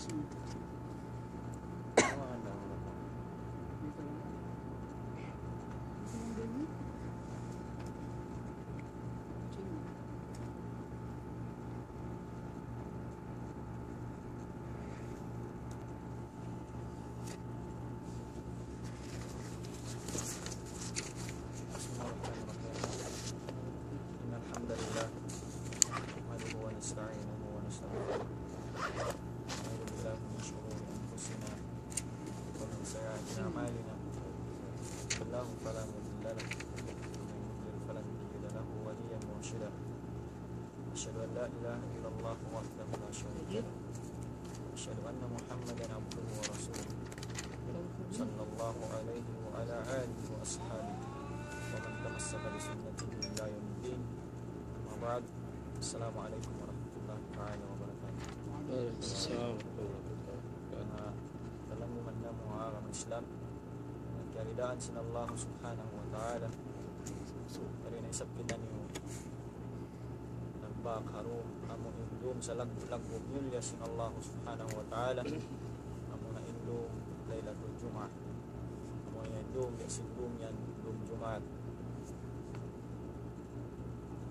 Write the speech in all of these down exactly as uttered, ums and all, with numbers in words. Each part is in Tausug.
إن الحمد لله نحمده ونستعينه ونستغفره، ونعوذ بالله من شرور أنفسنا ومن سيئات أعمالنا. من يهده الله فلا مضل له، ومن يضلل فلن تجد له وليا مرشدا. أشهد أن لا إله إلا الله وحده لا شريك له، وأشهد أن محمدا عبده ورسوله، صلى الله عليه وعلى آله وأصحابه ومن تمسك بسنته إلى يوم الدين. أما بعد، السلام عليكم ورحمة الله تعالى وبركاته. وعليكم السلام ورحمة الله وبركاته. Manga palanggungan namu' ha agama Islam, kiyaridaan sin Allah Subhanahu wa Ta'ala. Yari na isab kitaniyu nagbak ha dum, amu in dum salaggu'-laggu' mulliya sin Allah Subhanahu wa Ta'ala. Amu na in dum Laylatul Jumu'ah. Amu na in dum, ya sin dum yan, dum Jumaat.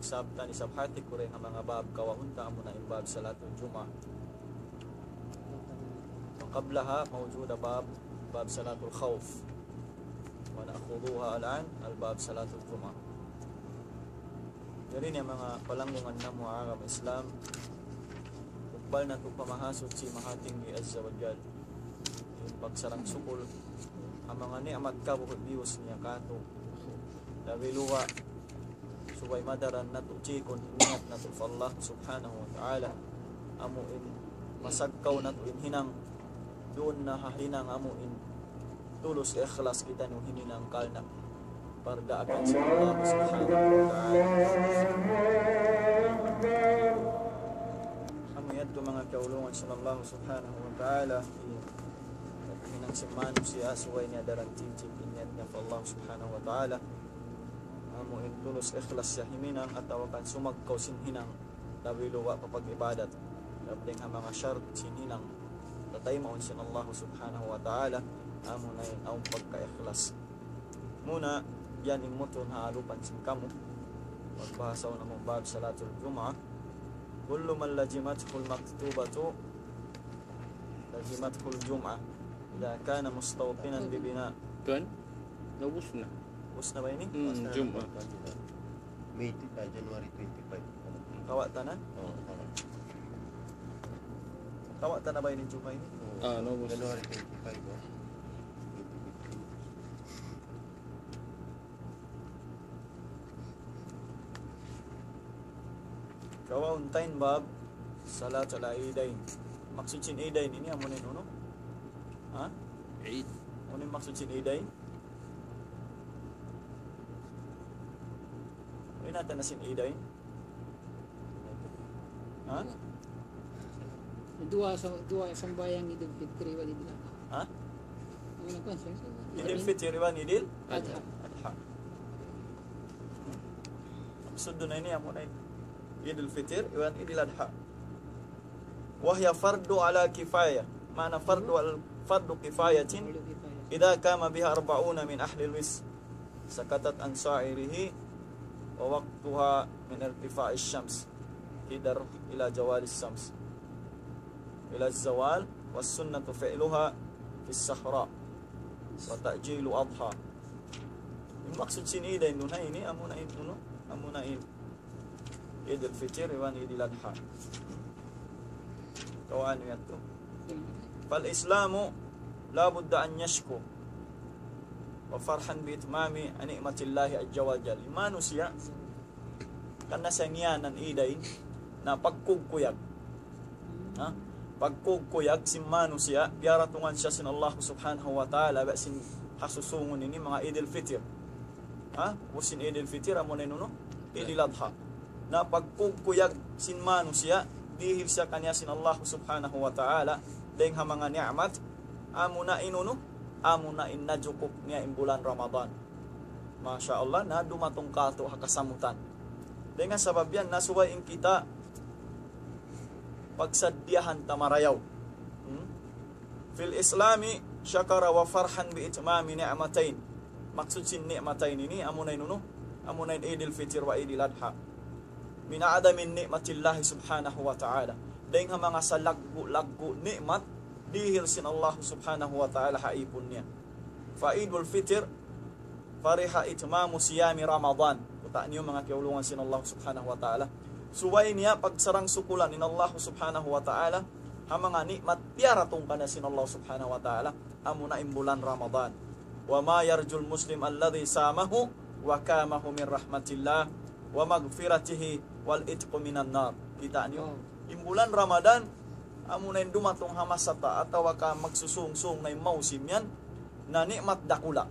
Isab ta, isab hati ku dayn ha manga bab kawahun ta, amu na in bab Salatul Jumu'ah. وقبلها موجود باب، باب صلاة الخوف. ونأخذها الآن، الباب صلاة الجمعة. Jari ini manga palanggungan namu' ha agama Islam, tukbal natu' pa Mahasuchi Mahatinggi Azza wa Jal in pagsarang-sukul ha manga ni'mat kabuhi' biyus niya kātu'. Labi luwa, subay madaran natu' jikun in niyat natu' pa Allah Subhanahu wa Ta'ala. Amu in masagkaw natu' in hinang, duun na ha hinang amu in tulus ikhlas kitaniyu himinang karna' pardaakan sin Allah Subhanahu wa Ta'ala. Amu yadtu manga kaulungan sin Allah Subhanahu wa Ta'ala, in hinang sin manusiya', subay niya daran jikun in niyat niya pa Allah Subhanahu wa Ta'ala. Amu in tulus ikhlas siya himinang atawa kan sumagkaw sin hinang, labi luwa pa pag-ibadat. Labi dayn ha manga shart sin hinang tataymaun sin Allah Subhanahu wa Ta'ala, amu na in awn pagka-ikhlas. Muna, yan in mutun ha alupan sin kamu. Magbahasa na mu bab Salatul Jumu'ah. كل من لزمته المكتوبة لزمته الجمعة إذا كان مستوطنا ببناء. Tuan, naubus na. Ubus na ba ini? Hmm, Jumu'ah. May, ah, January twenty-five. Kawa' ta na? Oo, kawa'. Kawa' ta na ba ini Jumu'ah ini? Oo. Ah, naubus. January twenty-five, oh. Kawaun ta in bab Salatul Idain. Maksud sin Idain ini amu na in unu? Ha? Eid. Unu in maksud sin Idain? Unu in hāti na sin Idain? Ha? Duwa sa-, duwa sambahayang Idul Fitri wal Idul Adha. Ha? Ang nagkuhan siya, Idul Fitri iban Idul Adha. Adha. Maksud duun na ini, amu na in Idul Fitri iban Idul Adha. وهي فرض على كفاية. معنى فرض على، فرض كفاية إذا قام بها أربعون من أهل الوسع. سقطت عن سائره ووقتها من ارتفاع الشمس كدر إلى زوال الشمس، إلى الزوال، والسنة فعلها في الصحراء وتعجيل أضحى. In maksud sin Idain duun ha ini, amu na in unu, amu na in Idul Fitri iban Idul Adha. Kawaun yadtu. فالإسلام لا بد أن يشكر فرحا بإتمام نعمة الله عز وجل. Manusiya', karna' siya ngiyanan Idain, na pagkugkuyag. Ha? Pagkugkuyag sin manusiya', piyaratungan siya sin Allah Subhanahu wa Ta'ala, ba sin ha susungun ini manga Idul Fitri. Ha? Ubus sin Idul Fitri, amu na in unu? Idul Adha. Na pagkugkuyag sin manusiya', dihil siya kaniya sin Allah Subhanahu wa Ta'ala, dayn ha manga ni'mat, amu na in unu? Amu na in najukup niya in bulan Ramadan. Masha Allah, na dumatung kātu' ha kasamutan. Dayn ha sabab yan, na subay in kita pagsaddiyahan ta marayaw. Hmm? في الإسلام شكر وفرحا بإتمام نعمتين. Maksud sin ni'matayn ini, amuna in unu, amuna in Eidil Fitr wa Eidil Adha. من أعظم نعمة الله سبحانه وتعالى. Dayng ha manga salaggu'-laggu' ni'mat, dihil sin Allah subhanahu wa ta'ala ha ipun niya. فعيد الفطر فرح إتمام صيام رمضان. Kuta' niyu manga kiyaulungan sin Allah subhanahu wa ta'ala. Subay niya pagsarang-sukulan in Allah subhanahu wa ta'ala, ha manga ni'mat piyaratung kaniya sin Allah subhanahu wa ta'ala, amuna in bulan Ramadan. وما يرجو المسلم الذي صامه وقامه من رحمة الله ومغفرته والعتق من النار. Kita' niyu? In bulan Ramadan, amuna in dumatung ha masa ta, atawa ka magsusung-sung na in mausim yan, na ni'mat dakula'.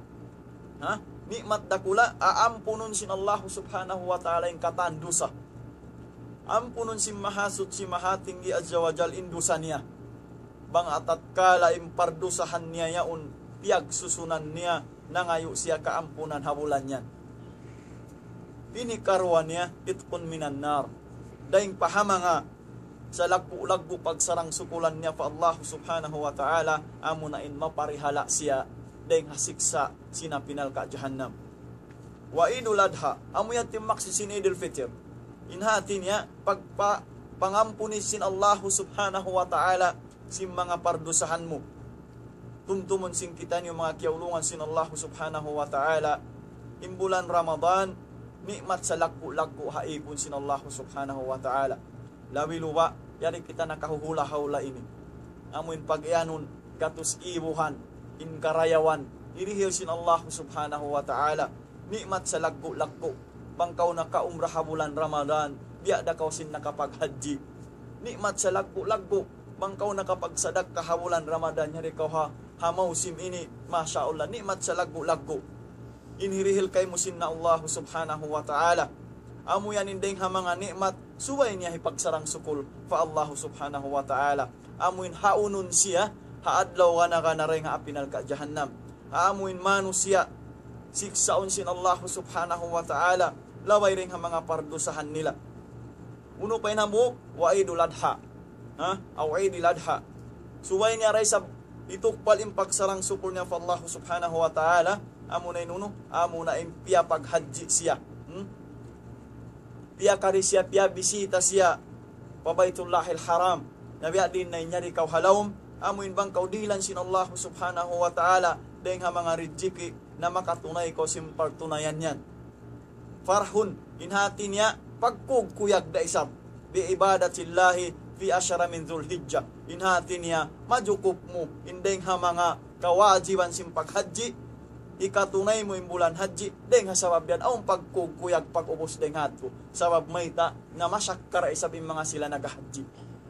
Ha? Ni'mat dakula', aampunun sin Allah subhanahu wa ta'ala in katan dusa. Ampunun sin Mahasuchi Mahatinggi Azza wa Jal in dusa niya. Bang ha tatkala in pardusahan niya yaun, piyagsusunan niya, nangayu' siya kaampunan ha bulan yan. Ini karuwa niya, عتق من النار. Dayng pa ha manga salaggu'-laggu' pagsarang-sukulan niya pa Allah subhanahu wa ta'ala, amuna in maparihala' siya dayng ha siksa' sin api narka' jahannam. Wa Eidul Adha, amu yan in maksud sin Eidul Fitr. In hati niya, pagpa-, pangampuni sin Allah subhanahu wa ta'ala sin manga pardusahan mu. Tumtumun sin kitaniyu manga kiyaulungan sin Allah subhanahu wa ta'ala. In bulan Ramadan, ni'mat salaggu'-laggu' ha ipun sin Allah subhanahu wa ta'ala. Labi luba', yari kita nakahuhula-hula ini. Amu in pag-iyanun, gatus ibuhan, in karayawan, dirihil sin Allah subhanahu wa ta'ala. Ni'mat salaggu'-laggu'. Bang kaw nakaumrah ha bulan Ramadan, biya' da kaw sin nakapaghajji. Ni'mat salaggu'-laggu'. Bang kaw nakapagsadakka ha bulan Ramadan, yari kaw ha, ha mausim ini, masha Allah, ni'mat salaggu'-laggu'. In hirihil kaymu sin Allah subhanahu wa ta'ala. Amu yan in dayng ha manga ni'mat, subay niya hipagsarang-sukul pa Allah subhanahu wa ta'ala. Amu in haunun siya, ha adlaw gana-gana dayng ha api narka' jahannam. Amu in manusiya', siksaun sin Allah subhanahu wa ta'ala, labay dayng ha manga pardusahan nila. Unu pa in hambuuk, wa Eidul Adha. Ha? Aw Eidil Adha. Subay niya da isab hitukbal in pagsarang-sukul niya pa Allah subhanahu wa ta'ala, amuna in unu, amuna in piyapaghajji siya. Hmm? Piyakari siya, piyabisita siya pa Baytullahil Haram. Na biya' diin na in yari kaw ha lawm, amu in bang kaw dihilan sin Allah subhanahu wa ta'ala, dayng ha manga rijiki' na makatunay kaw sin pagtunayan yan. Farhun, in hati niya, pagkugkuyag da isab. Bi ibadatillahi fi ashara min Dhul Hijjah. In hati niya, majukup mu, in dayng ha manga kawajiban sin paghajji, hikatunay mu in bulan hajji, dayng ha sabab yan, awn pagkugkuyag pag-ubus dayng ha yadtu. Sabab mayta', na masakka da isab in manga sila naghahajji.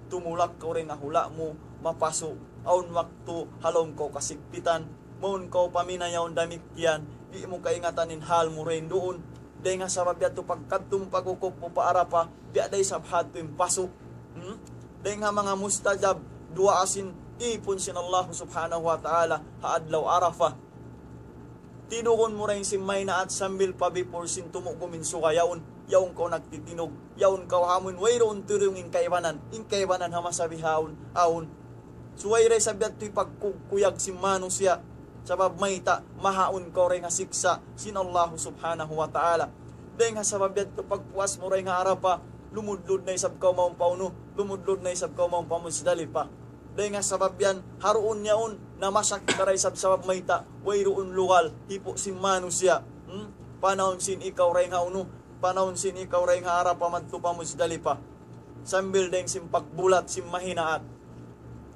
Tumulak kaw dayng ha hula' mu, mapasu', awn waktu, ha lawm kaw kasigpitan, mawn kaw paminayaw damikkiyan, di' mu kaingatan in hal mu dayng duun. Dayng ha sabab yadtu pagkadtu mu pag'ukup mu pa Arafah, biya' da isab ha yadtu in pasu'. Hmm? Dayng ha manga mustajab, duwaa sin ipun sin Allah subhanahu wa ta'ala, ha adlaw Arafah. Tinugun mu dayng sin maynaat sambil pa before sin tumugum in suga yaun, yaun kaw nagtitinug, yaun kaw ha amuin wayruun tuyung in kaibanan, in kaibanan ha masa bihaun, awn. Subay da isab yadtu hipagkuyag sin manusiya'. Sabab mayta', mahaun kaw dayng ha siksa' sin Allah subhanahu wa ta'ala. Dayng ha sabab yadtu pagpuas mu dayng ha Arafah, lumudlud na isab kaw mawn pa unu, lumudlud na isab kaw mawn pa Muzdalifah. Dayng ha sabab yan, ha duun yaun, na masakka da isab sabab mayta', wayruun lugal, hipu' sin manusiya'. Hmm? Panahun sin ikaw dayng ha unu, panahun sin ikaw dayng ha Arafah madtu pa Muzdalifah. Sambil dayng sin pagbulat sin mahinaat.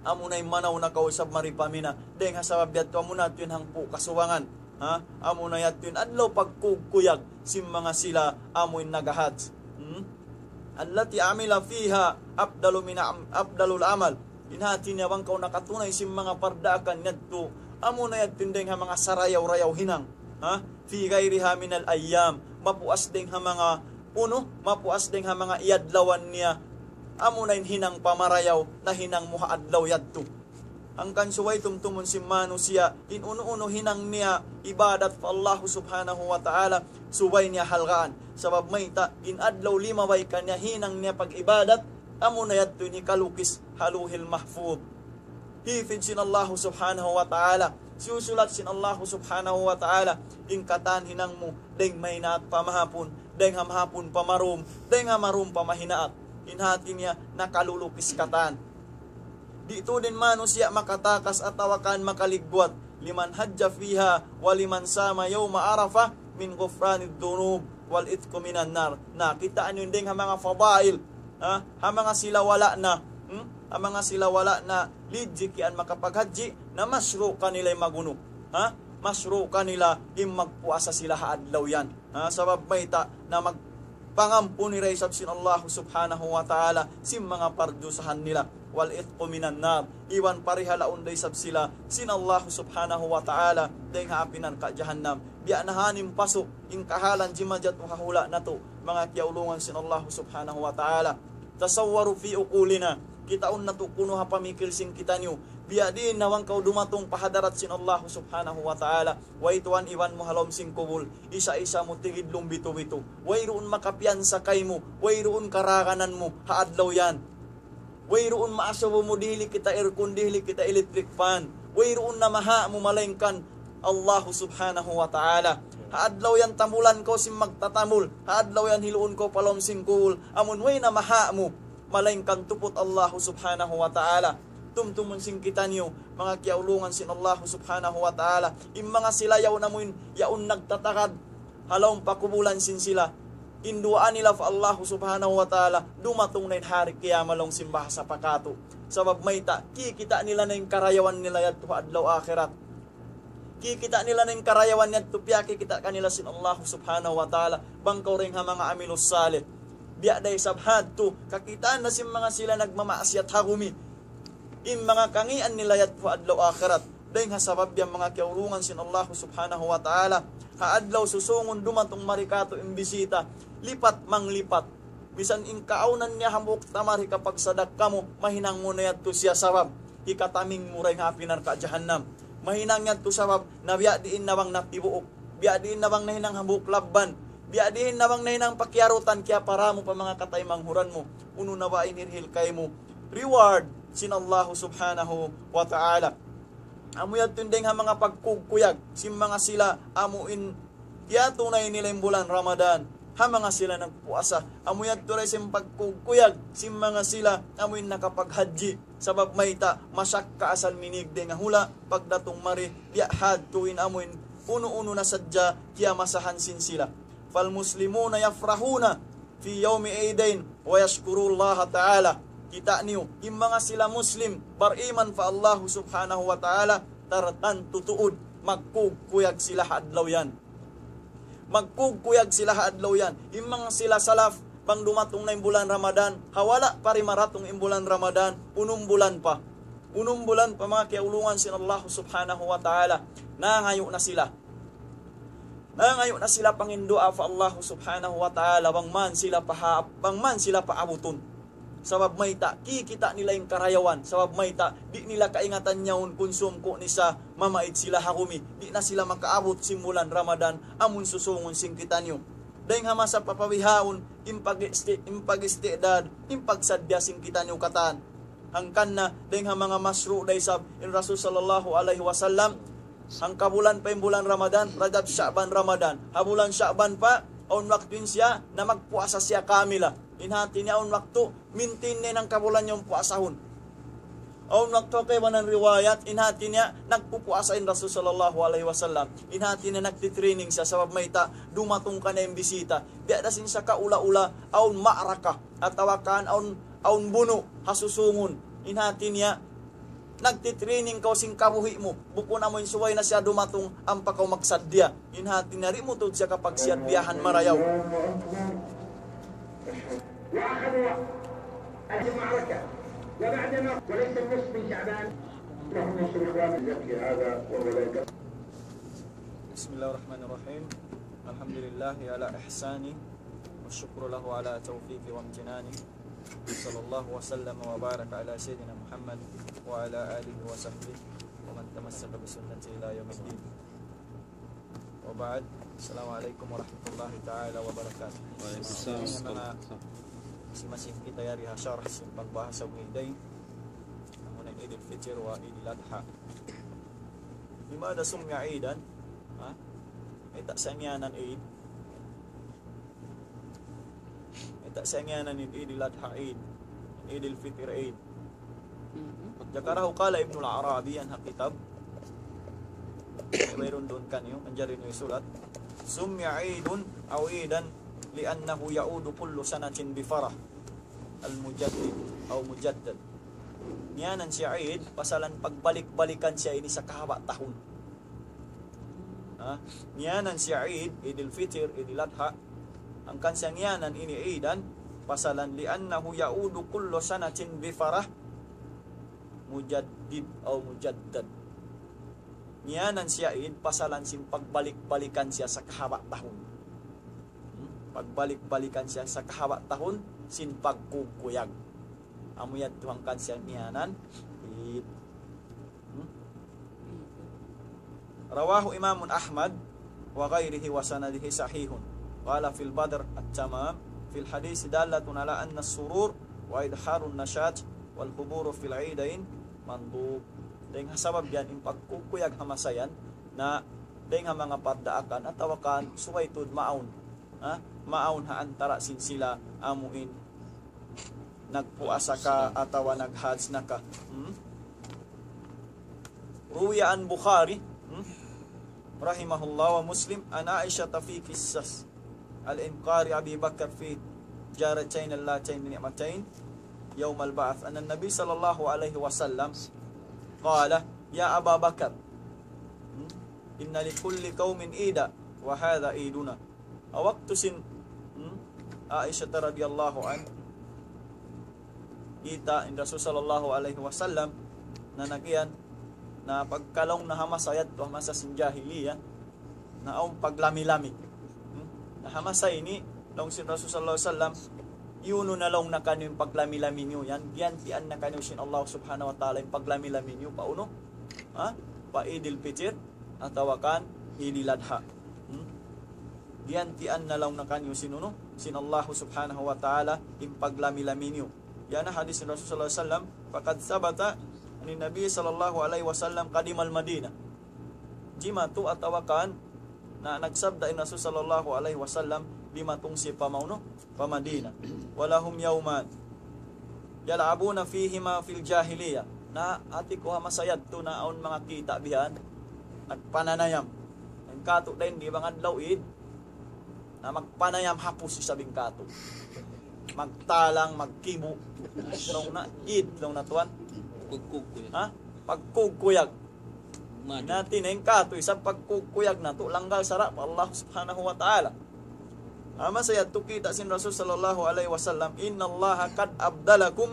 Amuna in manaw na kaw isab mari pa Mina. Dayng ha sabab yadtu amuna yadtu in hangpu' kasubangan. Ha? Amuna yadtu in adlaw pagkugkuyag sin manga sila amu in naghahajj. Hmm? التي عمل فيها أفضل من عم-، أفضل العمل. In hati niya bang kaw nakatunay sin manga pardaakan yadtu, amuna yadtu in dayng ha manga sarayaw-rayaw hinang. Ha? في غيرها من الأيام. Mapuas dayng ha manga unu, mapuas dayng ha manga iyadlawan niya. Amuna in hinang pamarayaw, nahinang mu ha adlaw yadtu. Hangkan subay tumtumun sin manusiya', in unu-unu hinang niya ibadat pa Allah subhanahu wa ta'ala, subay niya halgaan. Sabab mayta', in adlaw limabay kaniya hinang niya pag-ibadat, amuna yadtu in hikalukis ha Lawhil Mahfuz. Hifdh sin Allahu Subhanahu wa Ta'ala. Siyusulat sin Allahu Subhanahu wa Ta'ala in katan hinang mu, dayng mahinaat pa mahapun, dayng ha mahapun pa marum, dayng ha marum pa mahinaat. In hati niya nakalulukis katan. Di' tuud in manusiya' makatakas atawa kan makaligwat. لمن حج فيها ولمن صام يوم عرفة من غفران الذنوب والعتق من النار. Na, kitaa niyu in dayng ha manga fadail, ha? Ha manga sila wala' na, hmm? Ha manga sila wala' na lijikian makapaghajji, na mashru' kanila in magunu. Ha? Mashru' kanila in magpuasa sila ha adlaw yan. Ha? Sabab mayta' na magpangampun da isab sin Allah Subhanahu wa Ta'ala sin manga pardusahan nila. والعتق من النار. Iban parihalaun da isab sila sin Allah Subhanahu wa Ta'ala dayng ha api narka' jahannam. Biya' na ha ini in pasuk in kahalan jimajatu ha hula' natu', manga kiyaulungan sin Allah Subhanahu wa Ta'ala. تصوروا في عقولنا. Kitaun natu' kunu' ha pamikil sin kitaniyu. Biya' diin na bang kaw dumatung pa hadarat sin Allah Subhanahu wa Ta'ala. Way tuwan iban mu ha lawm sin kubul. Isa-isa mu tigidlum bitu-bitu. Wayruun makapiyansa kaymu. Wayruun karaganan mu ha adlaw yan. Wayruun maasubu mu, dihili kita aircon, dihili kita electric fan. Wayruun namaha' mu malaingkan Allahu Subhanahu wa Ta'ala. Ha adlaw yan tambulan kaw sin magtatambul. Ha adlaw yan hiluun kaw pa lawm sin kubul. Amun way namaha' mu malaingkan tuput Allahu Subhanahu wa Ta'ala. Tumtumun sin kitaniyu, manga kiyaulungan sin Allahu Subhanahu wa Ta'ala. In manga sila yaun amuin, yaun nagtatagad ha lawm pa kubulan sin sila. In duwaa nila pa Allahu Subhanahu wa Ta'ala, dumatung na in hari kiyamat laung sin bahasa pa katu'. Sabab mayta', kikita' nila na in karayawan nila yadtu ha adlaw akhirat. Kikita' nila na in karayawan yadtu, piyakikita' kanila sin Allahu Subhanahu wa Ta'ala, bang kaw dayng ha manga amilus salih. Biya' da isab hadtu, kakitaan na sin manga sila nagmamaksiyat ha gumi. In manga kangīan nila yadtu ha adlaw akhirat. Dayng ha sabab yan manga kiyaulungan sin Allahu Subhanahu wa Ta'ala. Ha adlaw susungun dumatung mari katu' in bisita. Lipat manglipat. Misan in kaawnan niya hambuuk ta mari kapagsadakka mu, mahinang mu na yadtu siya sabab hikataming mu dayng ha api narka' jahannam. Mahinang yadtu sabab na biya' diin na bang natibuuk. Biya' diin na bang nahinang hambuuk labban. Biya' diin na bang nahinang pakiyarutan kiyapara mu pa manga kataymanghuran mu. Unu na ba in hirihil kaymu reward sin Allahu Subhanahu wa Ta'ala. Amu yadtu in dayng ha manga pagkugkuyag sin manga sila amu in tiyatunay nila in bulan Ramadan ha manga sila nagpuasa. Amu yadtu da isab in pagkugkuyag sin manga sila amu in nakapaghajji. Sabab mayta', masakka asal minīg dayng ha hula', pagdatung mari, biya' hadtu in amu in unu-unu na sadja kiyamasahan sin sila. فالمسلمون يفرحون في يوم العيدين ويشكرون الله تعالى. Kita' niyu, in manga sila Muslim, bariman pa Allahu Subhanahu wa Ta'ala, tartantu tuud, magkugkuyag sila ha adlaw yan. Magkugkuyag sila ha adlaw yan. In manga sila salaf, bang dumatung na in bulan Ramadan, ha wala' pa rimaratung in bulan Ramadan, unum bulan pa. Unum bulan pa manga kiyaulungan sin Allahu Subhanahu wa Ta'ala. Nangayu' na sila. Nangayu' na sila panginduwaa pa Allahu Subhanahu wa Ta'ala, bang man sila pa ha-, bang man sila paabutun. Sabab mayta', kikita' nila in karayawan. Sabab mayta', di' nila kaingatan yaun kunsum ku ni sa mamaid sila ha gumi. Di' na sila makaabut sin bulan Ramadan, amun susungun sin kitaniyu. Dayng ha masa pa pabihaun, in pag-isti-, in pag-istidad, in pagsaddiya sin kitaniyu katan. Hangkan na, dayng ha manga mashru' da isab, in Rasul sallallahu alayhi wasallam, hangkabulan pa in bulan Ramadan, Rajab, Sha'ban, Ramadan. Ha bulan Sha'ban pa, awn waktu in siya, na magpuasa siya kamila. In hati niya awn waktu, mintin niya in hangkabulan niya puasahun. Awn waktu ha kaibanan riwayat, in hati niya, nagpupuasa in Rasul sallallahu alayhi wasallam. In hati niya, nagtitraining siya, sabab mayta', dumatung kaniya in bisita. Biya' da sin sakaula-ula, awn ma'raka, atawa kan awn, awn bunu', ha susungun. In hati niya, nagtitraining kaw sin kabuhi' mu. Bukun amu in subay na siya dumatung, ampa kaw magsaddiya. In hati niya, di' mu tuud siya kapagsaddiyahan marayaw. وأخذوا المعركة وبعدما وليس النصف من شعبان. اللهم انصر إخواننا في هذا وهو لا يكفي. بسم الله الرحمن الرحيم. الحمد لله على إحسانه والشكر له على توفيقه وامتنانه. صلى الله وسلم وبارك على سيدنا محمد وعلى آله وصحبه ومن تمسك بسنته إلى يوم الدين. وبعد. السلام عليكم ورحمة الله تعالى وبركاته. وعليكم السلام. Sa manga masi-masi kita yari ha sharh sin pagbahasa Umiday. Amu na عيد الفطر وعيد الأضحى. لماذا سمي عيدا؟ Ha? Mayta' siya ngiyanan Eid? Mayta' siya ngiyanan Eid, Eid al-Adha Eid, Eid al-Fitr Eid. Mhm. ذكره، قال ابن العربي, yan ha kitab. Mayroon duun kaniyu, manjari niyu isulat. سمي عيد أو عيدا لأنه يعود كل سنة بفرح المجدد أو مجدد. Ngiyanan siya Eid, pasalan pagbalik-balikan siya ini sakahaba' tahun. Ha? Ngiyanan siya Eid, Eid al-Fitr, Eid al-Adha. Hangkan siya ngiyanan ini Eidan, pasalan لأنه يعود كل سنة بفرح مجدد أو مجدد. Ngiyanan siya Eid, pasalan sin pagbalik-balikan siya sakahaba' tahun. Hmm? Pagbalik-balikan siya sakahaba' tahun, sin pagkukuyag. Amu yadtu hangkan siya ngiyanan Eid. Hmm? رواه إمام أحمد وغيره وسنده صحيح. قال في البدر التمام: في الحديث دالة على أن السرور وإظهار النشاط والحضور في العيدين مندوب. Dayn ha sabab yan, in pagkukuyag ha masa yan, na dayn ha manga pardaakan, atawa kan subay tuud maawn. Ha? Maawn ha antara' sin sila amuin nagpuasa ka atawa naghajj na ka. Hmm? روي عن بخاري، hmm, رحمه الله ومسلم عن عائشة في قصة الإنكار أبي بكر في الجارتين اللتين نعمتين يوم البعث أن النبي صلى الله عليه وسلم قال: يا أبا بكر، hmm, إن لكل قوم عيدا وهذا عيدنا. Ha waktu sin, hmm, Aisha radiyallahu anha, kita' in Rasul sallallahu alayhi wasallam, na nagiyan, na pagkalaung na ha masa yadtu, ha masa sin jahiliya, na awn paglami-lami. Hmm? Na ha masa ini, laung sin Rasul sallallahu alayhi wasallam, iyunu na laung na kaniyu in paglami-lami niyu yan, giyantian na kaniyu sin Allah subhanahu wa ta'ala in paglami-lami niyu, pa unu? Ha? Pa Idil Pitir, atawa kan Idil Adha. Hmm? Giyantian na laung na kaniyu sin unu, sin Allah subhanahu wa ta'ala, in paglami-lami niyu. Yan na hadis sin Rasul sallallahu alayhi wasallam, فقد ثبت عن النبي صلى الله عليه وسلم قدم المدينة. Jimatu atawa kan, na nagsabda in Rasul sallallahu alayhi wasallam, dimatung siya pa maunu, pa Madina. ولهم يومان يلعبون فيهما في الجاهلية. Na hati ku ha masa yadtu na awn manga kita' bihan, nagpananayam. In katu' dayn di' bang adlaw Eid, na magpanayam hapus isab in katu'. Magtalang, magkibu'. Laung na Eid, laung na tuwan. Kugkug ku yan. Ha? Pagkugkuyag. Madu. Nati na in katu', isab pagkukuyag natu', langgal sara' pa Allah subhanahu wa ta'ala. Amu sa yadtu kita' sin Rasul sallallahu alayhi wasallam, إن الله قد أبدلكم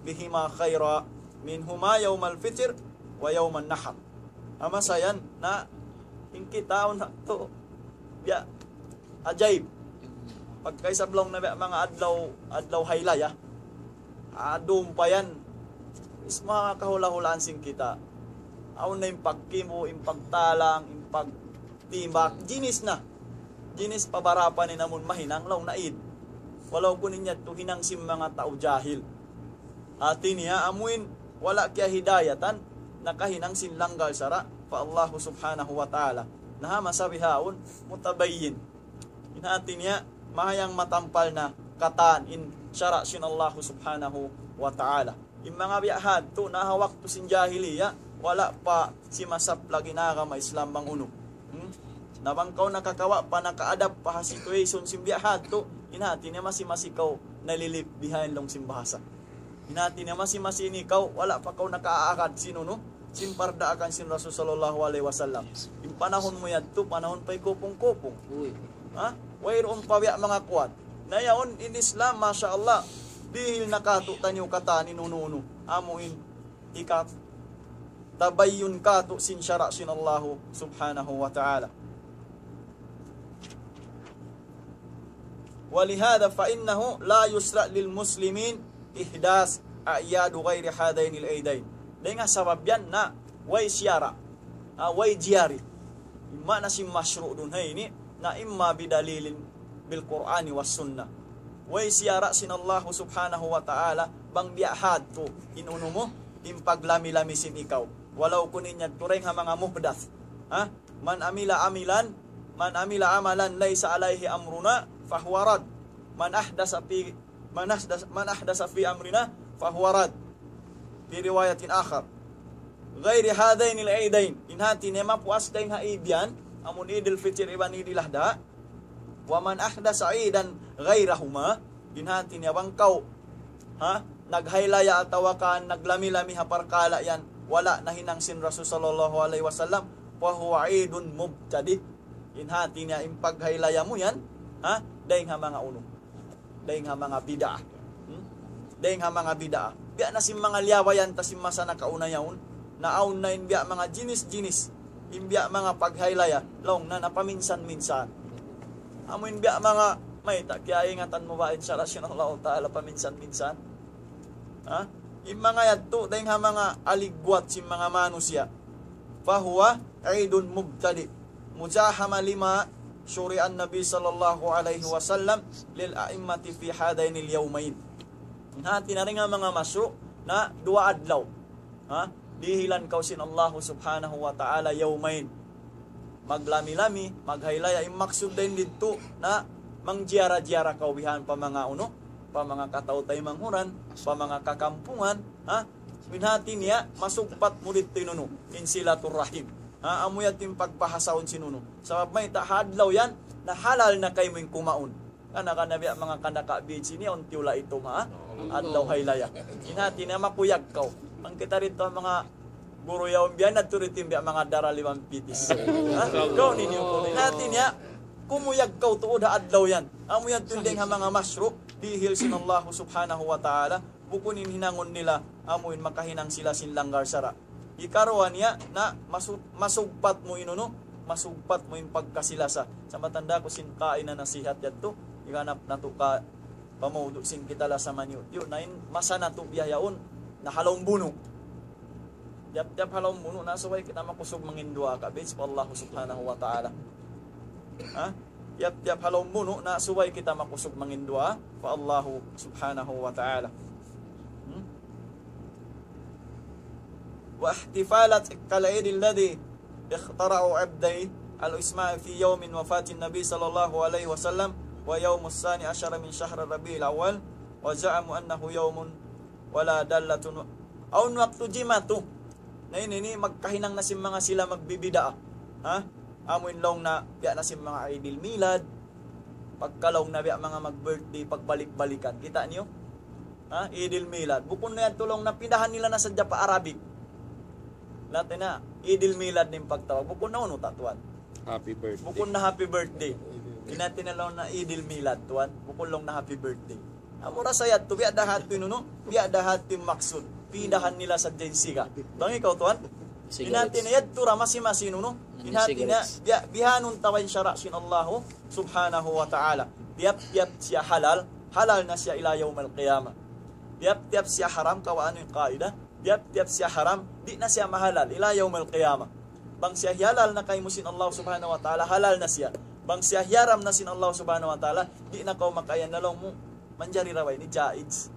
بهما خيرا منهما يوم الفطر ويوم النحر. Amu sa yan, na, in kita, awn na tu, ya, ajaib. Pagka isab laung na biya' manga adlaw, adlaw haylaya. Adum pa yan. Is manga kahula'-hulaan sin kita'. Awn na in pagkimu', in pagtalang, in pagtimbak. Jinis na. Jinis pa barapan in amun mahinang laung na Eid. Walaupun in yadtu hinang sin manga tau jahil. Hati niya amuin wala' kiyahidayatan, nakahinang sin langgal sara' pa Allah subhanahu wa ta'ala. Na ha masa bihaun, mutabayyin. In hati niya, mahayang matampal na katan in sara' sin Allah subhanahu wa ta'ala. In manga biya' hadtu, na ha waktu sin jahiliya, wala' pa simasaplag in agama Islam bang unu. Hmm? Na bang kaw nakakawa' pa, naka-adapt pa ha situation sin biya' hadtu, in hati niya masi-masi kaw nalilip behind laung sin bahasa. In hati niya masi-masi ini kaw, wala' pa kaw nakaagad sin unu, sin pardaakan sin Rasul sallallahu alayhi wasallam. In panahun mu yadtu, panahun pa hikupung-kupung. Uy. Ha? Wayruun pa biya' manga kuwan. Na yaun in Islam, masha Allah, dihil na katu'taniyu katan in unu-unu. Amuin hikatabayyun katu' sin sara' sin Allah subhanahu wa ta'ala. ولهذا فإنه لا يشرع للمسلمين إحداث أعياد غير هذين العيدين. Dayn ha sabab yan na way siyara', ah, way jiyari. Imma na sin mashru' dun ha ini, na imma بدليل بالقرآن والسنة. Way siyara' sin Allah subhanahu wa ta'ala, bang biya' hadtu in unu mu, in paglami-lami sin ikaw. Walaw kun in yadtu dayn ha manga muhdath. Ha? من عمل عملا، من عمل عملا ليس عليه أمرنا فهو رد. من أحدث في، من أحدث، من أحدث في أمرنا فهو رد. في رواية آخر. غير هذين العيدين. In hati niya mapuas dayn ha Eid yan, amun Eidul Fitr iban Eidul Adha. ومن أحدث عيدا غيرهما. In hati niya bang kaw, ha, naghaylaya atawa ka naglami-lami ha parkala' yan, wala' nahinang sin Rasul sallallahu alayhi wasallam, فهو عيد مبتدع. In hati niya in paghaylaya mu yan, ha, dayn ha manga unu. Dayn ha manga bid'ah. Hmm? Dayn ha manga bid'ah. Biya' na sin manga liyabayan ta sin masa nakauna yaun. Naawn na in biya' manga jinis-jinis. In biya' manga paghaylaya. Laung na napaminsan-minsan. Amu in biya' manga mayta', kiyaingatan mu ba in sara' sin Allah Ta'ala paminsan-minsan? Ha? In manga yadtu, dayn ha manga aligwat sin manga manusiya'. فهو عيد مبتدع. مزاحمة لما شرع النبي صلى الله عليه وسلم للأئمة في هذين اليومين. In hati niya dayn ha manga mashru' na duwa adlaw. Ha? Dihilan kaw sin Allah subhanahu wa ta'ala يومين. Maglami-lami, maghaylaya, in maksud dayn didtu na mangjiyara-jiyara kaw bihan pa manga unu, pa manga kataw-taymanghuran, pa manga kakampungan, ha? In hati niya, masugpat mu didtu in unu, in silaturrahim. Ha, amu yadtu in pagbahasaun sin unu. Sabab mayta' ha adlaw yan, na halal na kaymu in kumaun. Kana-kana biya' manga kanaka-beach ini, awn tiyula' itum ha adlaw haylaya. In hati niya makuyag kaw. Bang kita didtu manga guru yaun biya' na tuud in biya' manga dara limang pitis. Ha? Kaw ninyo ku. In hati niya, kumuyag kaw tuud ha adlaw yan. Amu yan tuud dayn ha manga mashru', dihil sin Allah subhanahu wa ta'ala. Bukun in hinangun nila, amu in makahinang sila sin langgar sara'. Hikaruwa niya, na masu-, masugpat mu in unu, masugpat mu in pagkasi-lasa. Sa' matanda ku sin kaina nasihat yadtu, higanap natu' ka pa mawdu' sin kita lasa maniyu'. Yun, na in masa natu' biya' yaun, na ha lawm bunu'. Tiyap-tiyap ha lawm bunu', na subay kita makusug mangin duwaa ka, bits pa Allah subhanahu wa ta'ala. Ha? Tiyap-tiyap ha lawm bunu', na subay kita makusug mangin duwaa pa Allah subhanahu wa ta'ala. Hmm? واحتفالات كالعيد الذي اخترعه عبدي الإسماعيلي في يوم وفاة النبي صلى الله عليه وسلم ويوم الثاني عشر من شهر ربيع الأول وزعموا أنه يوم ولا دالة أو وقت جمعة. Na ini, ini magkahinang na sin manga sila magbibidaa. Ha? Amu in laung na, biya' na sin manga Eidil Milad. Pagka laung na biya' manga mag-birthday, pagbalik-balikan. Kita' niyu? Ha? Eidil Milad. Bukun na yan tuud laung na pindahan nila na sadja pa Arabic. Laung na, Eidil Milad in pagtawag. Bukun na unu ta tuwan. Happy birthday. Bukun na happy birthday. In hati niya laung na Eidil Milad tuwan. Bukun laung na happy birthday. Amura sa yadtu, biya' da ha yadtu in unu, biya' da ha yadtu in maksud. Pindahan nila sadja in siga. Bang ikaw tuwan? Sigaret. In hati niya yadtu ra masi-masi in unu. In hati niya, sigaret. Biya', bihaun ta in sara' sin Allahu subhanahu wa ta'ala. Tiyap-tiyap siya halal, halal na siya ila yawmal qiyamah. Tiyap-tiyap siya haram, kawaa niyu in qaida. Tiyap-tiyap siya haram, di' na siya mahalal ila yawmal qiyamah. Bang siya hihalal na kaymu sin Allah subhanahu wa ta'ala, halal na siya. Bang siya hiyaram na sin Allah subhanahu wa ta'ala, di' na kaw makaiyan na laung mu, manjari ra ba ini, jaiz.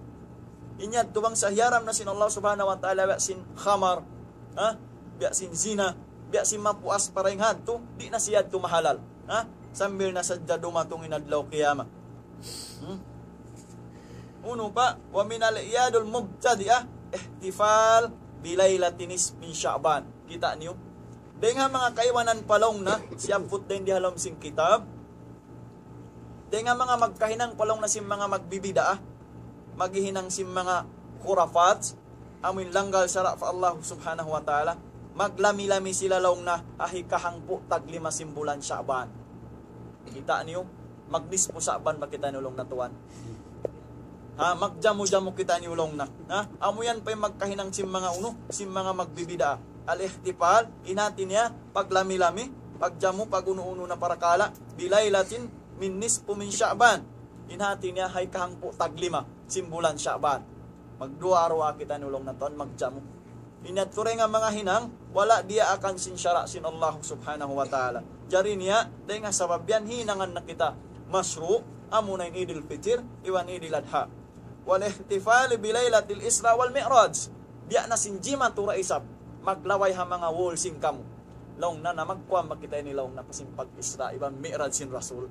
In yadtu bang siya hiyaram na sin Allah subhanahu wa ta'ala, biya' sin khamar, ha? Biya' sin zina, biya' sin mapuas pa dayn ha yadtu, di' na siya yadtu mahalal, ha? Sambil na sadja dumatung in adlaw qiyamah. Hmm? Unu pa, ومن الأعياد المبتدعة احتفال بليلة النصف من شعبان. Kita' niyu? Dayn ha manga kaibanan pa laung na, siyabbut dayn di ha lawm sin kitab. Dayn ha manga magkahinang pa laung na sin manga magbibidaa, maghihinang sin manga khurafat, amu in langgal sara' pa Allah subhanahu wa ta'ala, maglami-lami sila laung na ha hikahangpu' taglima sin bulan Sha'ban. Kita' niyu, magnispu Sha'ban ba kitaniyu laung na tuwan? Ha, magjamu-jamu kitaniyu laung na. Ha, amu yan pa in magkahinang sin manga unu, sin manga magbibidaa. Al-ihtifal, in hati niya, paglami-lami, pagjamu, pag-unu-unu na parakala', bilaylatin min nisfu min Sha'ban. In hati niya, ha hikahangpu' taglima sin bulan Sha'ban. Magduwaa-ruwaa kitaniyu laung na tuwan, magjamu. In yadtu dayn ha manga hinang, wala' diyaakan sin sara' sin Allah subhanahu wa ta'ala. Jari niya, dayn ha sabab yan hinangan na kita mashru', amuna in Idil Fitr, iban Idil Adha. والاحتفال بليلة الإسراء والمعراج. Biya' na sin jimatu ra isab, maglaway ha manga wall sin kamu. Laung na, na magkuwan ba kita ini, laung na, pa sin pag-Isra iban Mi'raj sin Rasul.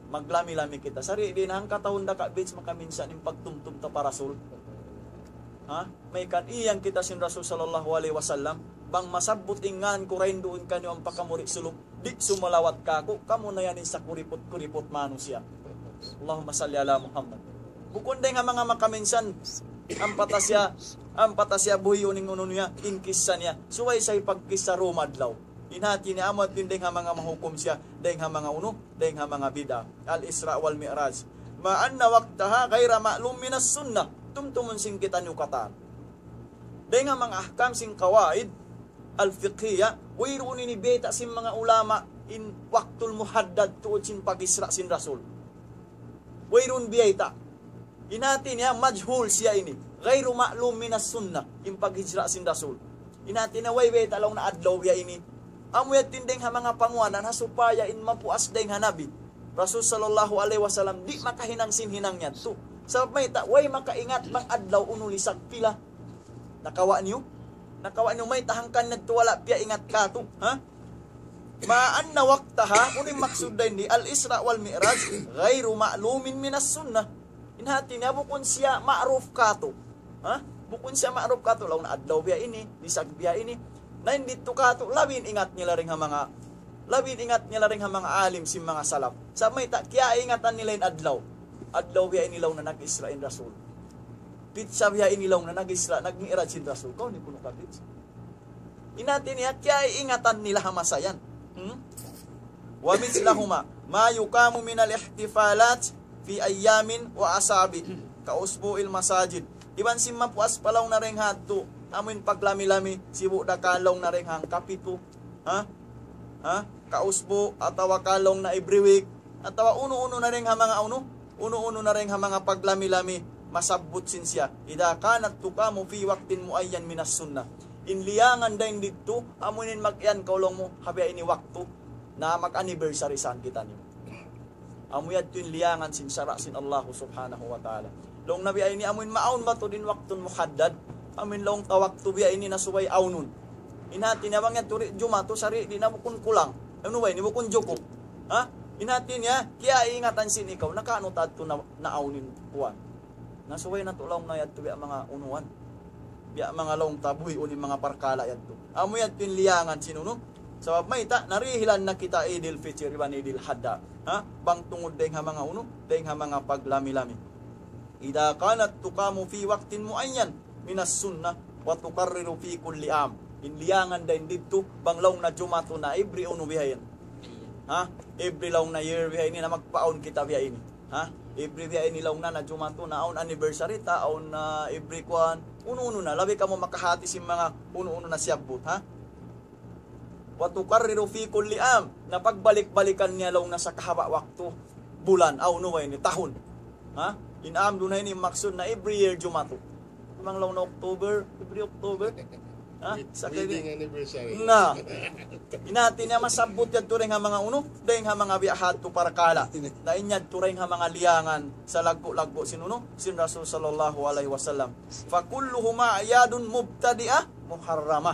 Maglami-lami kita. Sari' di' na hangkatahun da ka beads makaminsan in pagtumtum ta pa Rasul. Ha? Mayta' iyan kita sin Rasul sallallahu alayhi wasallam. Bang masabbut in ngan ku dayn duun kaniyu ampa kamu di' sulup, di' sumalawat kāku', kamu na yan in sakuriput-kuriput manusiya'. Allahumma salli ala Muhammad. Bukun dayng ha manga makaminsan, ampa ta siya, ampa ta siya buhiun in unu niya, in kissa niya. Subay sa' pagkissa Roma adlaw. In hati niya amu yadtu in dayng ha manga mahukum siya, dayng ha manga unu, dayng ha manga bid'a. Al-Isra wal Mi'raj. مع أن وقتها غير معلوم من السنة. Tumtumun sin kitaniyu katan. Dayng ha manga ahkam sin qawaid al-fiqhiyya, wayruun ini biyayta' sin manga ulama in waktul muhaddad tuud sin pag-Isra sin Rasul. Wayruun biyayta'. In hati niya majhul siya ini. غير معلوم من السنة. In pag-Isra sin Rasul. In hati niya way biyayta' laung na adlaw biya' ini. Amu yadtu in dayng ha manga panguwanan ha supaya in mapuas dayng ha Nabi Rasul sallallahu alayhi wasallam di' makahinang sin hinang yadtu. Sabab mayta', way makaingat bang adlaw unu lisag pila. Nakawa' niyu? Nakawa' niyu mayta' hangkan yadtu wala' piyaingat kātu', ha? مع أن وقتها, unu in maksud dayn di, الإسراء والمعراج غير معلوم من السنة. In hati niya bukun siya ma'ruf kātu'. Ha? Bukun siya ma'ruf kātu'. Laung na adlaw biya' ini, lisag biya' ini. Na in didtu kātu', labi in ingat nila dayng ha manga, labi in ingat nila dayng ha manga alim sin manga salaf. Sa' mayta', kiyaingatan nila in adlaw. Adlaw biya' ini laung na nag-Isra in Rasul. Pitsa biya' ini laung na nag-Isra, nag-Mi'raj in Rasul. Kaw ni kunu' ka pitsa. In hati niya, kiyaingatan nila ha masa yan. Hmm? ومثلهما ما يقام من الاحتفالات في أيام وأسابيع كأسبوع المساجد. Iban sin mapuas pa laung na dayng ha yadtu, amu in paglami-lami, sibu' da ka laung na dayng hangkapitu. Ha? Ha? Kausbu', atawa ka laung na every week, atawa unu-unu na dayng ha manga unu, unu-unu na dayng ha manga paglami-lami, masabbut sin siya. إذا كانت تقام في وقت معين من السنة. In liyangan dayn didtu, amu in mag-iyan kaw laung mu, ha biya' ini waktu, na mag-anniversary saan kitaniyu. Amu yadtu in liyangan sin sara' sin Allahu subhanahu wa ta'ala. Laung na biya' ini amu in maawn ba tuud in waktun muhaddad, amu in laung ta waktu biya' ini na subay awnun. In hati niya bang yadtu di' jumatu sari' di' na bukun kulang. Unu ba ini bukun jukup. Ha? In hati niya, kiyaingatan sin ikaw, nakaanu ta yadtu na, naawn in kuwan. Na subay natu' laung na yadtu biya' manga unuan. Biya' manga laung ta buhiun in manga parkala' yadtu. Amu yadtu in liyangan sin unu. Sabab mayta', narihilan na kita Idil Fitr iban Idil Hadha. Ha? Bang tungud dayng ha manga unu, dayng ha manga paglami-lami. إذا كانت تقام في وقت معين من السنة وتقرر في كل عام. In liyangan dayn didtu, bang laung na jumatu na every unu bihayan. Ha? Every laung na year bihayan na magpaawn kita bihayan. Ha? Every biya' ini laung na, na jumatu na awn anniversary ta, awn na every kuwan, unu-unu na, labi kamu makahati sin manga unu-unu na siyabbut, ha? وتقرر في كل عام, na pagbalik-balikan niya laung na sa kahaba' waktu, bulan, aw unu ba ini, tahun. Ha? In am duun na ini maksud na every year jumatu. Bang laung na October, every October. Ha? Sa kay wedding anniversary. Na. In hati niya masabbut yadtu dayng ha manga unu, dayng ha manga biya' hadtu parkala'. Na in yadtu dayng ha manga liyangan sa laggu'-laggu' sin unu, sin Rasul sallallahu alayhi wasallam. فكلهما أعياد مبتدعة محرمة.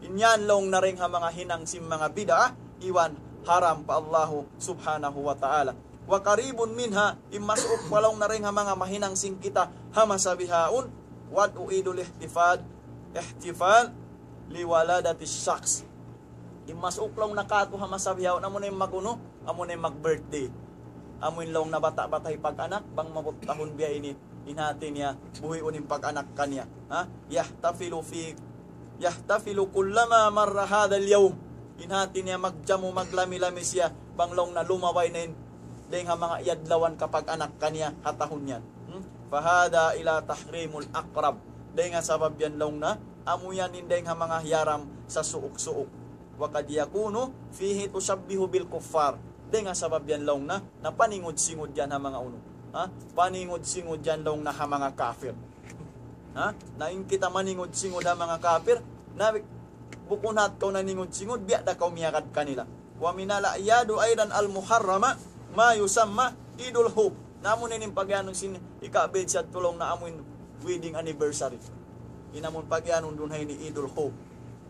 In yan laung na dayng ha manga hinang sin manga bid'ah, iban haram pa Allahu subhanahu wa ta'ala. وقريب منها, in masuuk pa laung na dayng ha manga mahinang sin kita ha masa bihaun, وضع عيد الاحتفال, احتفال لولادة الشخص. In masuuk laung na katu' ha masa bihaun, amu na in mag-unu, amu na in mag-birthday. Amu in laung na bata'-bata' hipag-anak, bang maabut tahun biya' ini, in hati niya, buhiun in pag-anak kaniya. Ha? يحتفل في يحتفل كلما مر هذا اليوم. In hati niya magjamu, maglami-lami siya, bang laung na lumabay na in dayng ha manga iyadlawan kapag-anak kaniya ha tahun yan. Hmm? فهذا إلى تحريم الأقرب. Dayng ha sabab yan laung na, amu yan in dayng ha manga hiyaram sa suuk-suuk. وقد يكون فيه تشبه بالكفار. Dayng ha sabab yan laung na, na paningud-singud yan ha manga unu. Ha? Paningud-singud yan laung na ha manga kafir. Ha? Na in kita maningud-singud ha manga kafir, na bukun hat kaw naningud-singud, biya' da kaw miyagad kanila. ومن الأعياد أيضا المحرمة ما يسمى عيد الحب. Na amu na in pag-anu sin ika-bid'ah laung na amu in wedding anniversary. In amun pagiyanun duun ha ini Idul Khawf.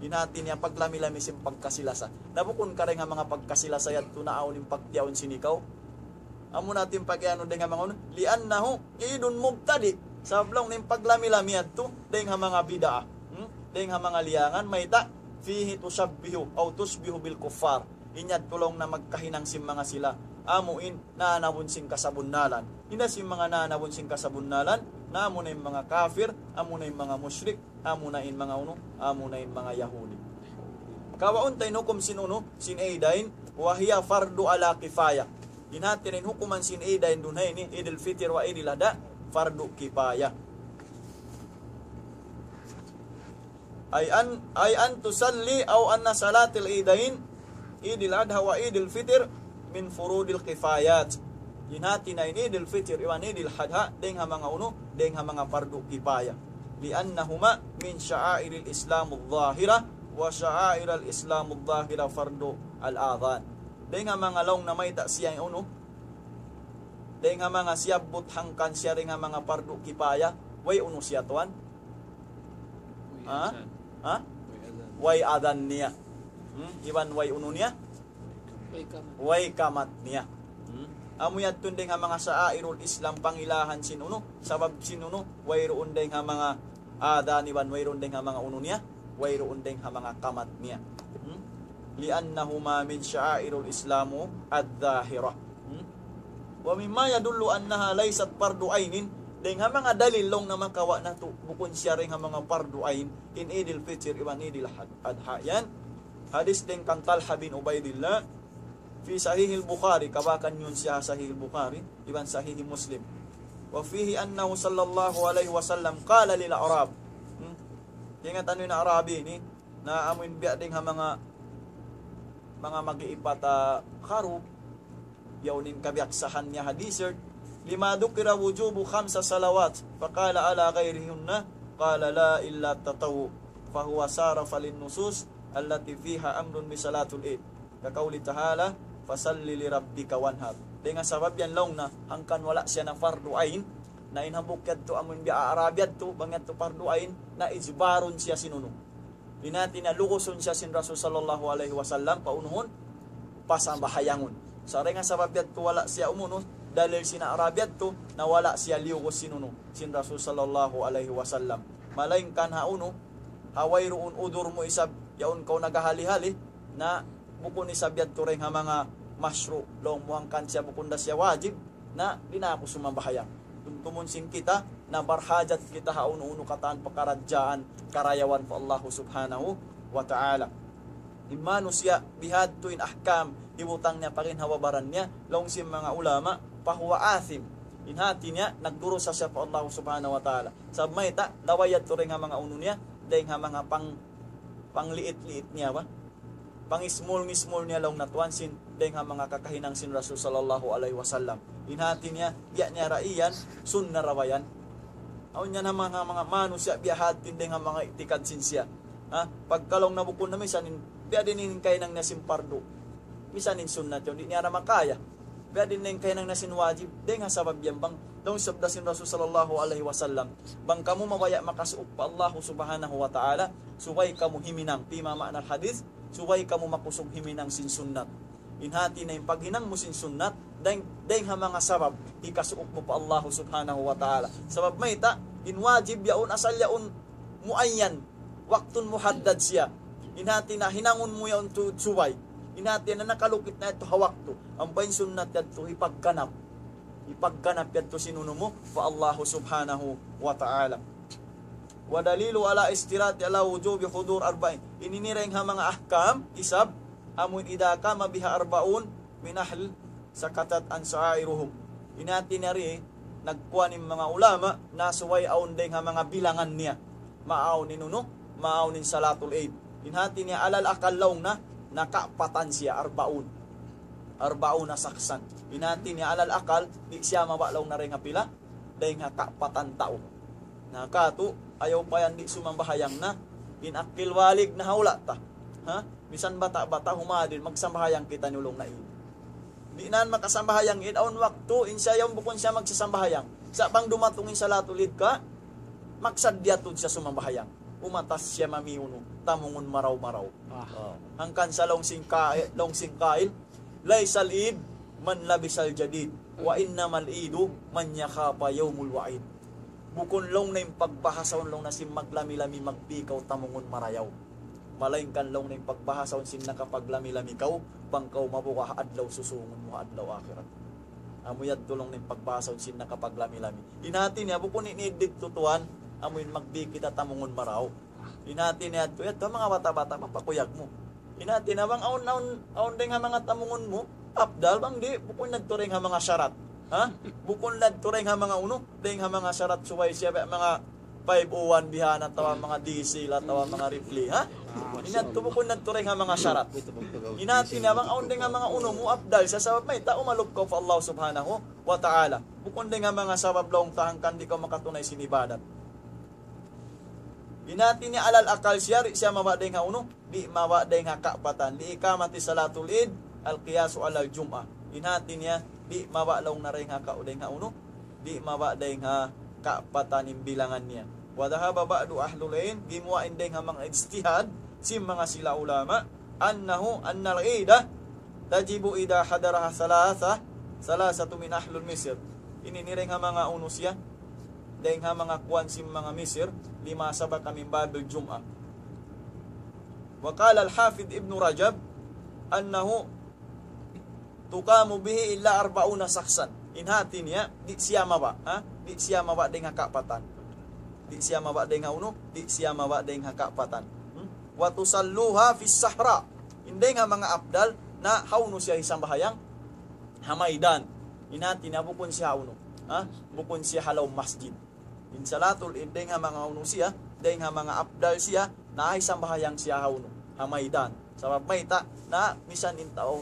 In hati niya paglami-lami sin pagkasi-lasa. Na bukun ka dayn ha manga pagkasi-lasa yadtu na awn in pagtiyaun sin ikaw. Amu na in pagiyanun dayn ha manga unu. لأنه عيد مبتدع. Sabab laung niya in paglami-lami yadtu dayn ha manga bid'ah. Hmm? Dayn ha manga liyangan, mayta', فيه تشبه أو تشبه بالكفار. In yadtu laung na magkahinang sin manga sila. Amu in nanabun sin kasabunnalan. Hisiyu in manga nanabun sin kasabunnalan, na amuna in manga kafir, amuna in manga mushrik, amuna in manga unu, amuna in manga Yahudi. Kawaun ta in hukum sin unu, sin Eidain, وهي فرض على كفاية. In hati niya in hukuman sin Eidain duun ha ini, Idul Fitr wa Idul Adha, fardu kifaya. أي أن، أي أن تصلي أو أن صلاة العيدين، عيد الأضحى وعيد الفطر، من فروض الكفايات. In hati niya in Idul Fitr iban Idul Adha, dayn ha manga unu, dayn ha manga fardu kifaya. لأنهما من شعائر الإسلام الظاهرة، وشعائر الإسلام الظاهرة فرض الأذان. Dayn ha manga laung na mayta' siya unu, dayn ha manga siyabbut hangkan siya dayn ha manga fardu kifaya, way unu siya tuwan? Ha? Ha? Way adhan niya. Hmm? Iban way unu niya? Way kamat. Way kamat niya. Hmm? Amu yadtu dayn ha manga sha'airul Islam, pangilahan sin unu, sabab sin unu, wayruun dayn ha manga adhan iban wayruun dayn ha manga unu niya, wayruun dayn ha manga kamat niya. Hmm? لأنهما من شعائر الإسلام الظاهرة. Hmm? ومما يدل أنها ليست فرض عين, dayn ha manga dalil laung na makawa' natu', bukun siya dayn ha manga fardu ain, in Idul Fitr iban Idul Had-, Adha yan. Hadis dayn kan Talha bin Ubaidillah, في صحيح البخاري, kabakan yun siya Sahih Bukhari, iban Sahih Muslim. وفيه أنه صلى الله عليه وسلم قال للأعراب. Hmm? Ingat anu in Arabi ini, na amuin biya' dayn ha manga, manga mag-iipat, ah, kharuf, yaun in kabiyaksahan niya ha desert. لما ذكر وجوب خمس صلوات، فقال على غيرهن، قال لا إلا التطوع، فهو صارف للنصوص التي فيها أمر بصلاة العيد. كقوله تعالى، فصل لربك وانحر. Dayn ha sabab yan laung na, hangkan wala' siya na fardu ain, na in hambuuk yadtu amun biya' Arab yadtu, bang yadtu fardu ain, na ijbarun siya sin unu. In hati niya lugusun siya sin Rasul sallallahu alayhi wasallam, paunuhun, pasambahayangun. Sa' dayn ha sabab yadtu wala' siya umunu, dalil sin Arab yadtu, na wala' siya liyugus sin unu, sin Rasul sallallahu alayhi wasallam. Malaingkan ha unu, ha wayruun udur mu isab, yaun kaw naghahali-hali, na bukun isab yadtu dayn ha manga mashru', laung mu hangkan siya bukun da siya wajib, na di' na aku sumambahayang. Tumtumun sin kita, na barhajat kita ha unu-unu katan pakaradjaan, karayawan pa Allahu subhanahu wa ta'ala. In manusiya' bihadtu in ahkam, hibutang niya pa ginhawa-baran niya, laung sin manga ulama, فهو آثم. In hati niya, nagdurusa siya pa Allahu subhanahu wa ta'ala. Sabab mayta', laway yadtu dayn ha manga unu niya, dayn ha manga pang, pangliit-liit niya ba? Pangismul-ngismul niya laung na tuwan sin, dayn ha manga kakahinang sin Rasul sallallahu alayhi wasallam. In hati niya, biya' niya ra iyan, sunna ra ba yan. Awn yan ha manga, manga manusiya' biya' hati in dayn ha manga itikad sin siya. Ha? Pagka laung na bukun na misan in, biya' diin in kahinang niya sin pardu. Misan in sunnat yaun, di' niya ra makaya. Biya' diin in kahinang niya sin wajib, dayn ha sabab yan bang. Laung sabda sin Rasul sallallahu alayhi wasallam, bang kamu mabaya' makasuuk pa Allahu subhanahu wa ta'ala, subay kamu himinang, فيما معنى الحديث, subay kamu makusug himinang sin sunnat. In hati niya in paghinang mu sin sunnat, dayn, dayn ha manga sabab, hikasuuk mu pa Allahu subhanahu wa ta'ala. Sabab mayta', in wajib yaun asal yaun muayyan, waktun muhaddad siya. In hati niya hinangun mu yaun tuud subay. In hati niya nakalukit na yadtu ha waktu. Ampa in sunnat yadtu hipagganap. Hipagganap yadtu sin unu mu pa Allahu subhanahu wa ta'ala. ودليل على اشتراط على وجوب حضور أربع. Ini in dayn ha manga ahkam, isab, amun إذا قام بها أربعون من أهل سكتت عن سائرهم. In hati niya ri, nagkuwan in manga ulama, na subay awn dayn ha manga bilangan niya. Maawn in unu, maawn in salatul Eid. In hati niya alal akal laung na, nakapatan siya, arbaun. Arbauna shakhsan. In hati niya alal akal, di' siya mabaya' laung na dayn ha pila, dayn ha kapatan tau. Na katu', ayaw pa yan di' sumambahayang na, in akil balig na ha hula' ta. Ha? Misan bata'-bata' humadil, magsambahayang kitaniyu laung na ini. Di' na yan makasambahayang in awn waktu, in siya yaun bukun siya magsasambahayang. Sa' bang dumatung in salatul Eid ka, Maksad niya tuud siya sumambahayang. Umatas siya mami unu, tamungun maraw-maraw. Ah. Oh. Hangkan sa laung sin ka-, laung sin kail, "ليس العيد من لبس الجديد، وإنما العيد من يخاف يوم الوعيد." Bukun laung niya in pagbahasahun laung niya sin maglami-lami magbi kaw tamungun marayaw. Malaingkan laung niya in pagbahasahun sin nakapaglami-lami kaw, bang kaw mabuga' ha adlaw susūngun mu ha adlaw akhirat. Amu yadtu laung niya in pagbahasahun sin nakapaglami-lami. In hāti niya, bukun ini didtu tuwan, amu in magbi kita tamungun marayaw. In hāti niya yadtu, yadtu manga bata'-bata', mapakuyag mu. In hāti niya bang awn, awn, awn dayng ha manga tamungun mu, afdal bang di', bukun yadtu dayng ha manga sharat. Ha? Bukun yadtu dayng ha manga unu, dayng ha manga sharat subay siya, manga five oh one bihan atawa manga diesel atawa manga rifle, ha? In yadtu bukun yadtu dayng ha manga sharat. In hāti niya bang awn dayng ha manga unu mu, afdal siya, sabab mayta', umalup kaw pa Allah Subhanahu wa Ta'ala. Bukun dayng ha manga sabab laung ta hangkan di' kaw makatunay sin ibadat. In hāti niya alal akal siya, di' siya mabaya' dayng ha unu, di' mabaya' dayng ha kaapatan. لإقامة صلاة العيد القياس على الجمعة. In hāti niya, di' mabaya' laung niya dayng ha ka-, dayng ha unu, di' mabaya' dayng ha kaapatan in bilangan niya. وذهب بعض أهل العلم, gimuwa' in dayng ha manga ijtihad, sin manga sila ulama, أنه، أن العيد تجب إذا حضرها ثلاثة، ثلاثة من أهل مصر. Ini in dayng ha manga unu siya, dayng ha manga kuwan sin manga Misir, لما سبق من باب الجمعة. وقال الحافظ ابن رجب أنه تقام به إلا أربعون شخصا. In hāti niya, di' siya mabaya', ha? Di' siya mabaya' dayng ha kaapatan. Di' siya mabaya' dayng ha unu, di' siya mabaya' dayng ha kaapatan. Hmm? وتصلوها في الصحراء. In dayng ha manga afdal, na ha unu siya hisambahayang, ha maydan. In hāti niya bukun siya ha unu, ha? Bukun siya ha lawm masjid. In salatul Eid dayng ha manga unu siya, dayng ha manga afdal siya, na hisambahayang siya ha unu, ha maydan. Sabab mayta', na misan in tau,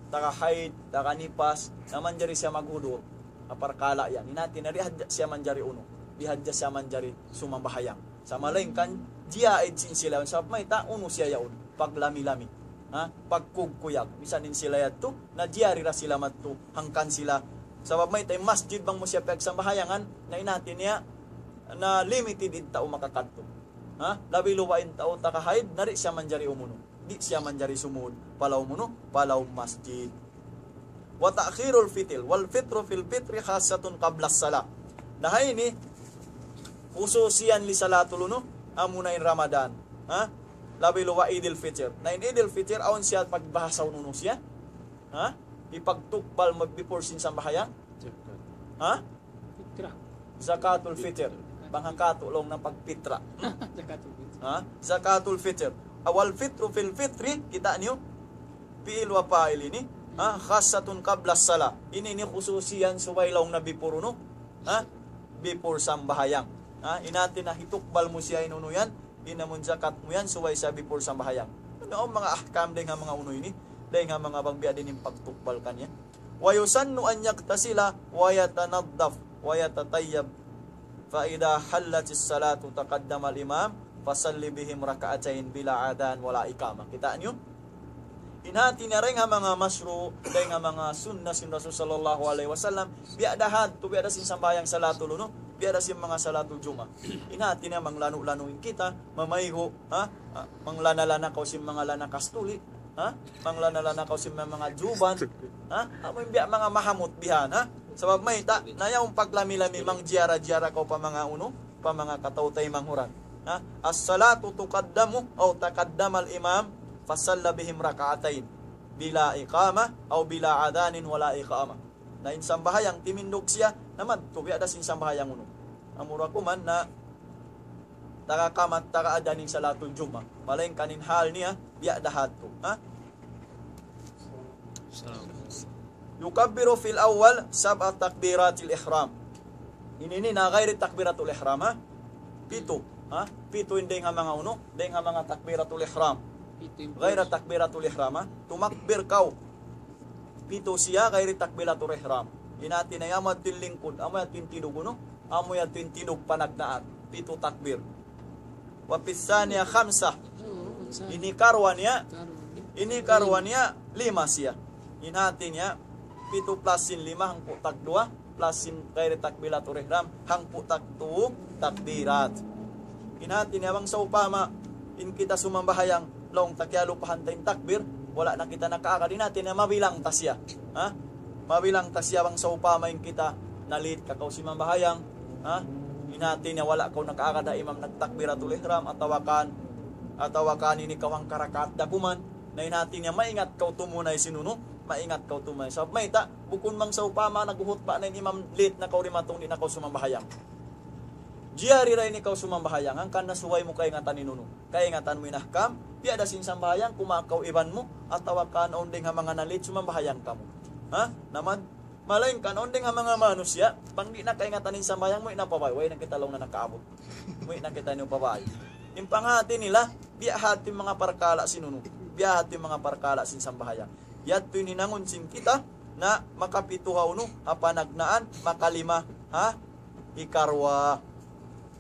taga haid, taga nifas, na manjari siya maghudur. Ha parkala' yan. In hāti niya di' hadja siya manjari unu, di' hadja siya manjari sumambahayang. Sa' malaingkan, jiyaid sin sila, sabab mayta', unu siya yaun, paglami-lami. Ha? Pagkugkuyag. Misan in sila yadtu, na jiyari ra sila madtu, hangkan sila. Sabab mayta', in masjid bang mu siya piyagsambahayangan, na in hāti niya, na limited in tau makakadtu. Ha? Labi luba' in tau taga haid, na di' siya manjari umunu. Di' siya manjari sumud, pa lawm unu, pa lawm masjid. وتأخير الفطر، والفطر في الفطر خاصة قبل الصلاة. Na ha ini, khususiyan li salatul unu, amuna in Ramadan. Ha? Labi luba' Idil Fitr. Na in Idil Fitr, awn siya pagbahasahun unu siya. Ha? Hipagtukbal mag-, before sin sambahayang. Ha? Fitra. Zakatul Fitr. Bang ha katu' laung niya pagpitra. Zakatul Fitr. Ha? Zakatul Fitr. والفطر في الفطر, kita' niyu? Fi'il wa fa'il ini. Ha? خاصة قبل الصلاة. Ini, ini khususiyan subay laung niya before unu. Ha? Before sambahayang. Ha? In hāti niya hitukbal mu siya in unu yan. In amun zakat mu yan, subay siya before sambahayang. Unu, awn manga ahkam dayng ha manga unu ini. Dayng ha manga bang biya' diin in pagtukbal kaniya. ويسن أن يغتسل ويتنظف ويتطيب، فإذا حلت الصلاة تقدم الإمام فصل بهم ركعتين بلا أذان ولا إقامة. Kita' niyu? In hāti niya dayng ha manga mashru', dayng ha manga sunnah sin Rasul sallallahu alayhi wasallam, biya' da hadtu, biya' da sin sambahayang salatul unu, biya' da sin manga salatul Jum'ah. In hāti niya manglanu'-lanu' in kita, mamaygu', ha? Ah, manglana-lana kaw sin manga lana kastuli, ha? Manglana-lana kaw sin manga juban, ha? Amu in biya' manga mahamut bihan, ha? Sabab mayta', na yaun paglami-lami mangjiyara-jiyara kaw pa manga unu, pa manga kataw-taymanghuran. Ha? الصلاة تقدم أو تقدم الإمام فصلى بهم ركعتين بلا إقامة أو بلا أذان ولا إقامة. Na in sambahayang timindug siya, na madtu, biya' da sin sambahayang unu. Amura kuman na taga kamat, taga adhan in salatul Jum'ah. Malaingkan in hal niya, biya' da hadtu. Ha? يكبر في الأول سبع تكبيرات الإحرام. Ini, ini na ghairi takbiratul ihram, ha? Pitu, ha? Pitu in dayng ha manga unu, dayng ha manga takbiratul ihram. Pitu in Ghaira takbiratul ihram, ha? Tumakbir kaw. Pitu siya ghairi takbiratul ihram. In hāti niya amu yadtu in lingkud, amu yadtu in tinug unu, amu yadtu in tinug panagnaan. Pitu takbir. وفي الثانية خمسة. Ini karuwa niya, ini karuwa niya lima siya. In hāti niya, pitu plus sin lima hangpu' tagduwa, sin ghairi takbiratul ihram, hangpu' tagtu takbirat. In hati niya bang sawpama, in kita sumambahayang, laung ta kiyalupahan ta in takbir, wala' na kita nakaagad, in hati niya mabilang ta siya. Ha? Mabilang ta siya bang sawpama in kita na-late kaw sumambahayang, ha? In hati niya wala' kaw nakaagad ha imam nagtakbiratul ihram, atawa kan, atawa kan ini kaw hangka rakaat da kuman, na in hati niya maingat kaw tumunay sin unu, maingat kaw tumunay. Sabab mayta', bukun bang sawpama naghuhutba na in imam, late na kaw dimatung, di' na kaw sumambahayang. Jari ra ini kaw sumambahayang, hangkan na subay mu kaingatan in unu. Kaingatan mu in ahkam, biya' da sin sambahayang, kumawa' kaw iban mu, atawa kan awn dayng ha manga na-late sumambahayang kamu. Ha? Naman, malayngkan awn dayng ha manga manusiya', bang di' na kaingatan in sambahayang mu, di' na pa bay, way na kita laung na nakaabut. Way na kita niyu pa bay. In panghati nila, biya' hati manga parkala' sin unu. Biya' hati manga parkala' sin sambahayang. Yadtu in hinangun sin kita, na makapitu ha unu, ha panagnaan, makalima, ha? Hikaruwa.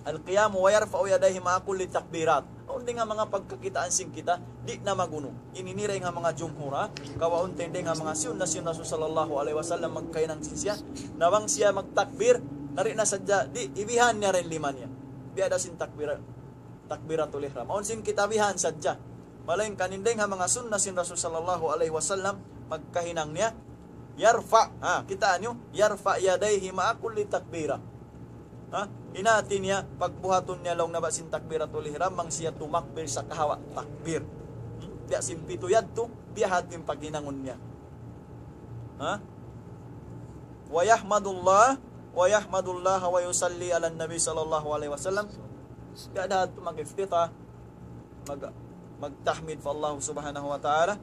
Al-qiyamu wa yarfa'u yadayhi ma'a kulli takbirat. Awn dayng ha manga pagkakitaan sin kita, di' na magunu. Ini in dayng ha manga jumhur, ha? Kawaun ta in dayng ha manga siyunna sin Rasul sallallahu alayhi wasallam magkahinang sin siya. Na bang siya magtakbir, na di' na sadja, di', ibihan niya ra in lima niya. Biya' da sin takbir, takbiratul ihram. Awn sin kita bihan sadja. Malayngkan in dayng ha manga siyunna sin Rasul sallallahu alayhi wasallam, magkahinang niya, yarfa', ha, kitaa niyu, yarfa' yadayhi ma'a kulli takbira. Ha? In hati niya, pagbuhatun niya laung niya bat sin takbiratul ihram, bang siya tumakbir sakahawa takbir. Hmm? Biya' sin pitu yadtu, biya' hati in paghinangun niya. Ha? Wa yahmadullah, wa yahmadullah wa yusalli ala nabi sallallahu alayhi wasallam. Biya' da hati mag-iftitah, mag-, magtahmid pa Allah subhanahu wa ta'ala,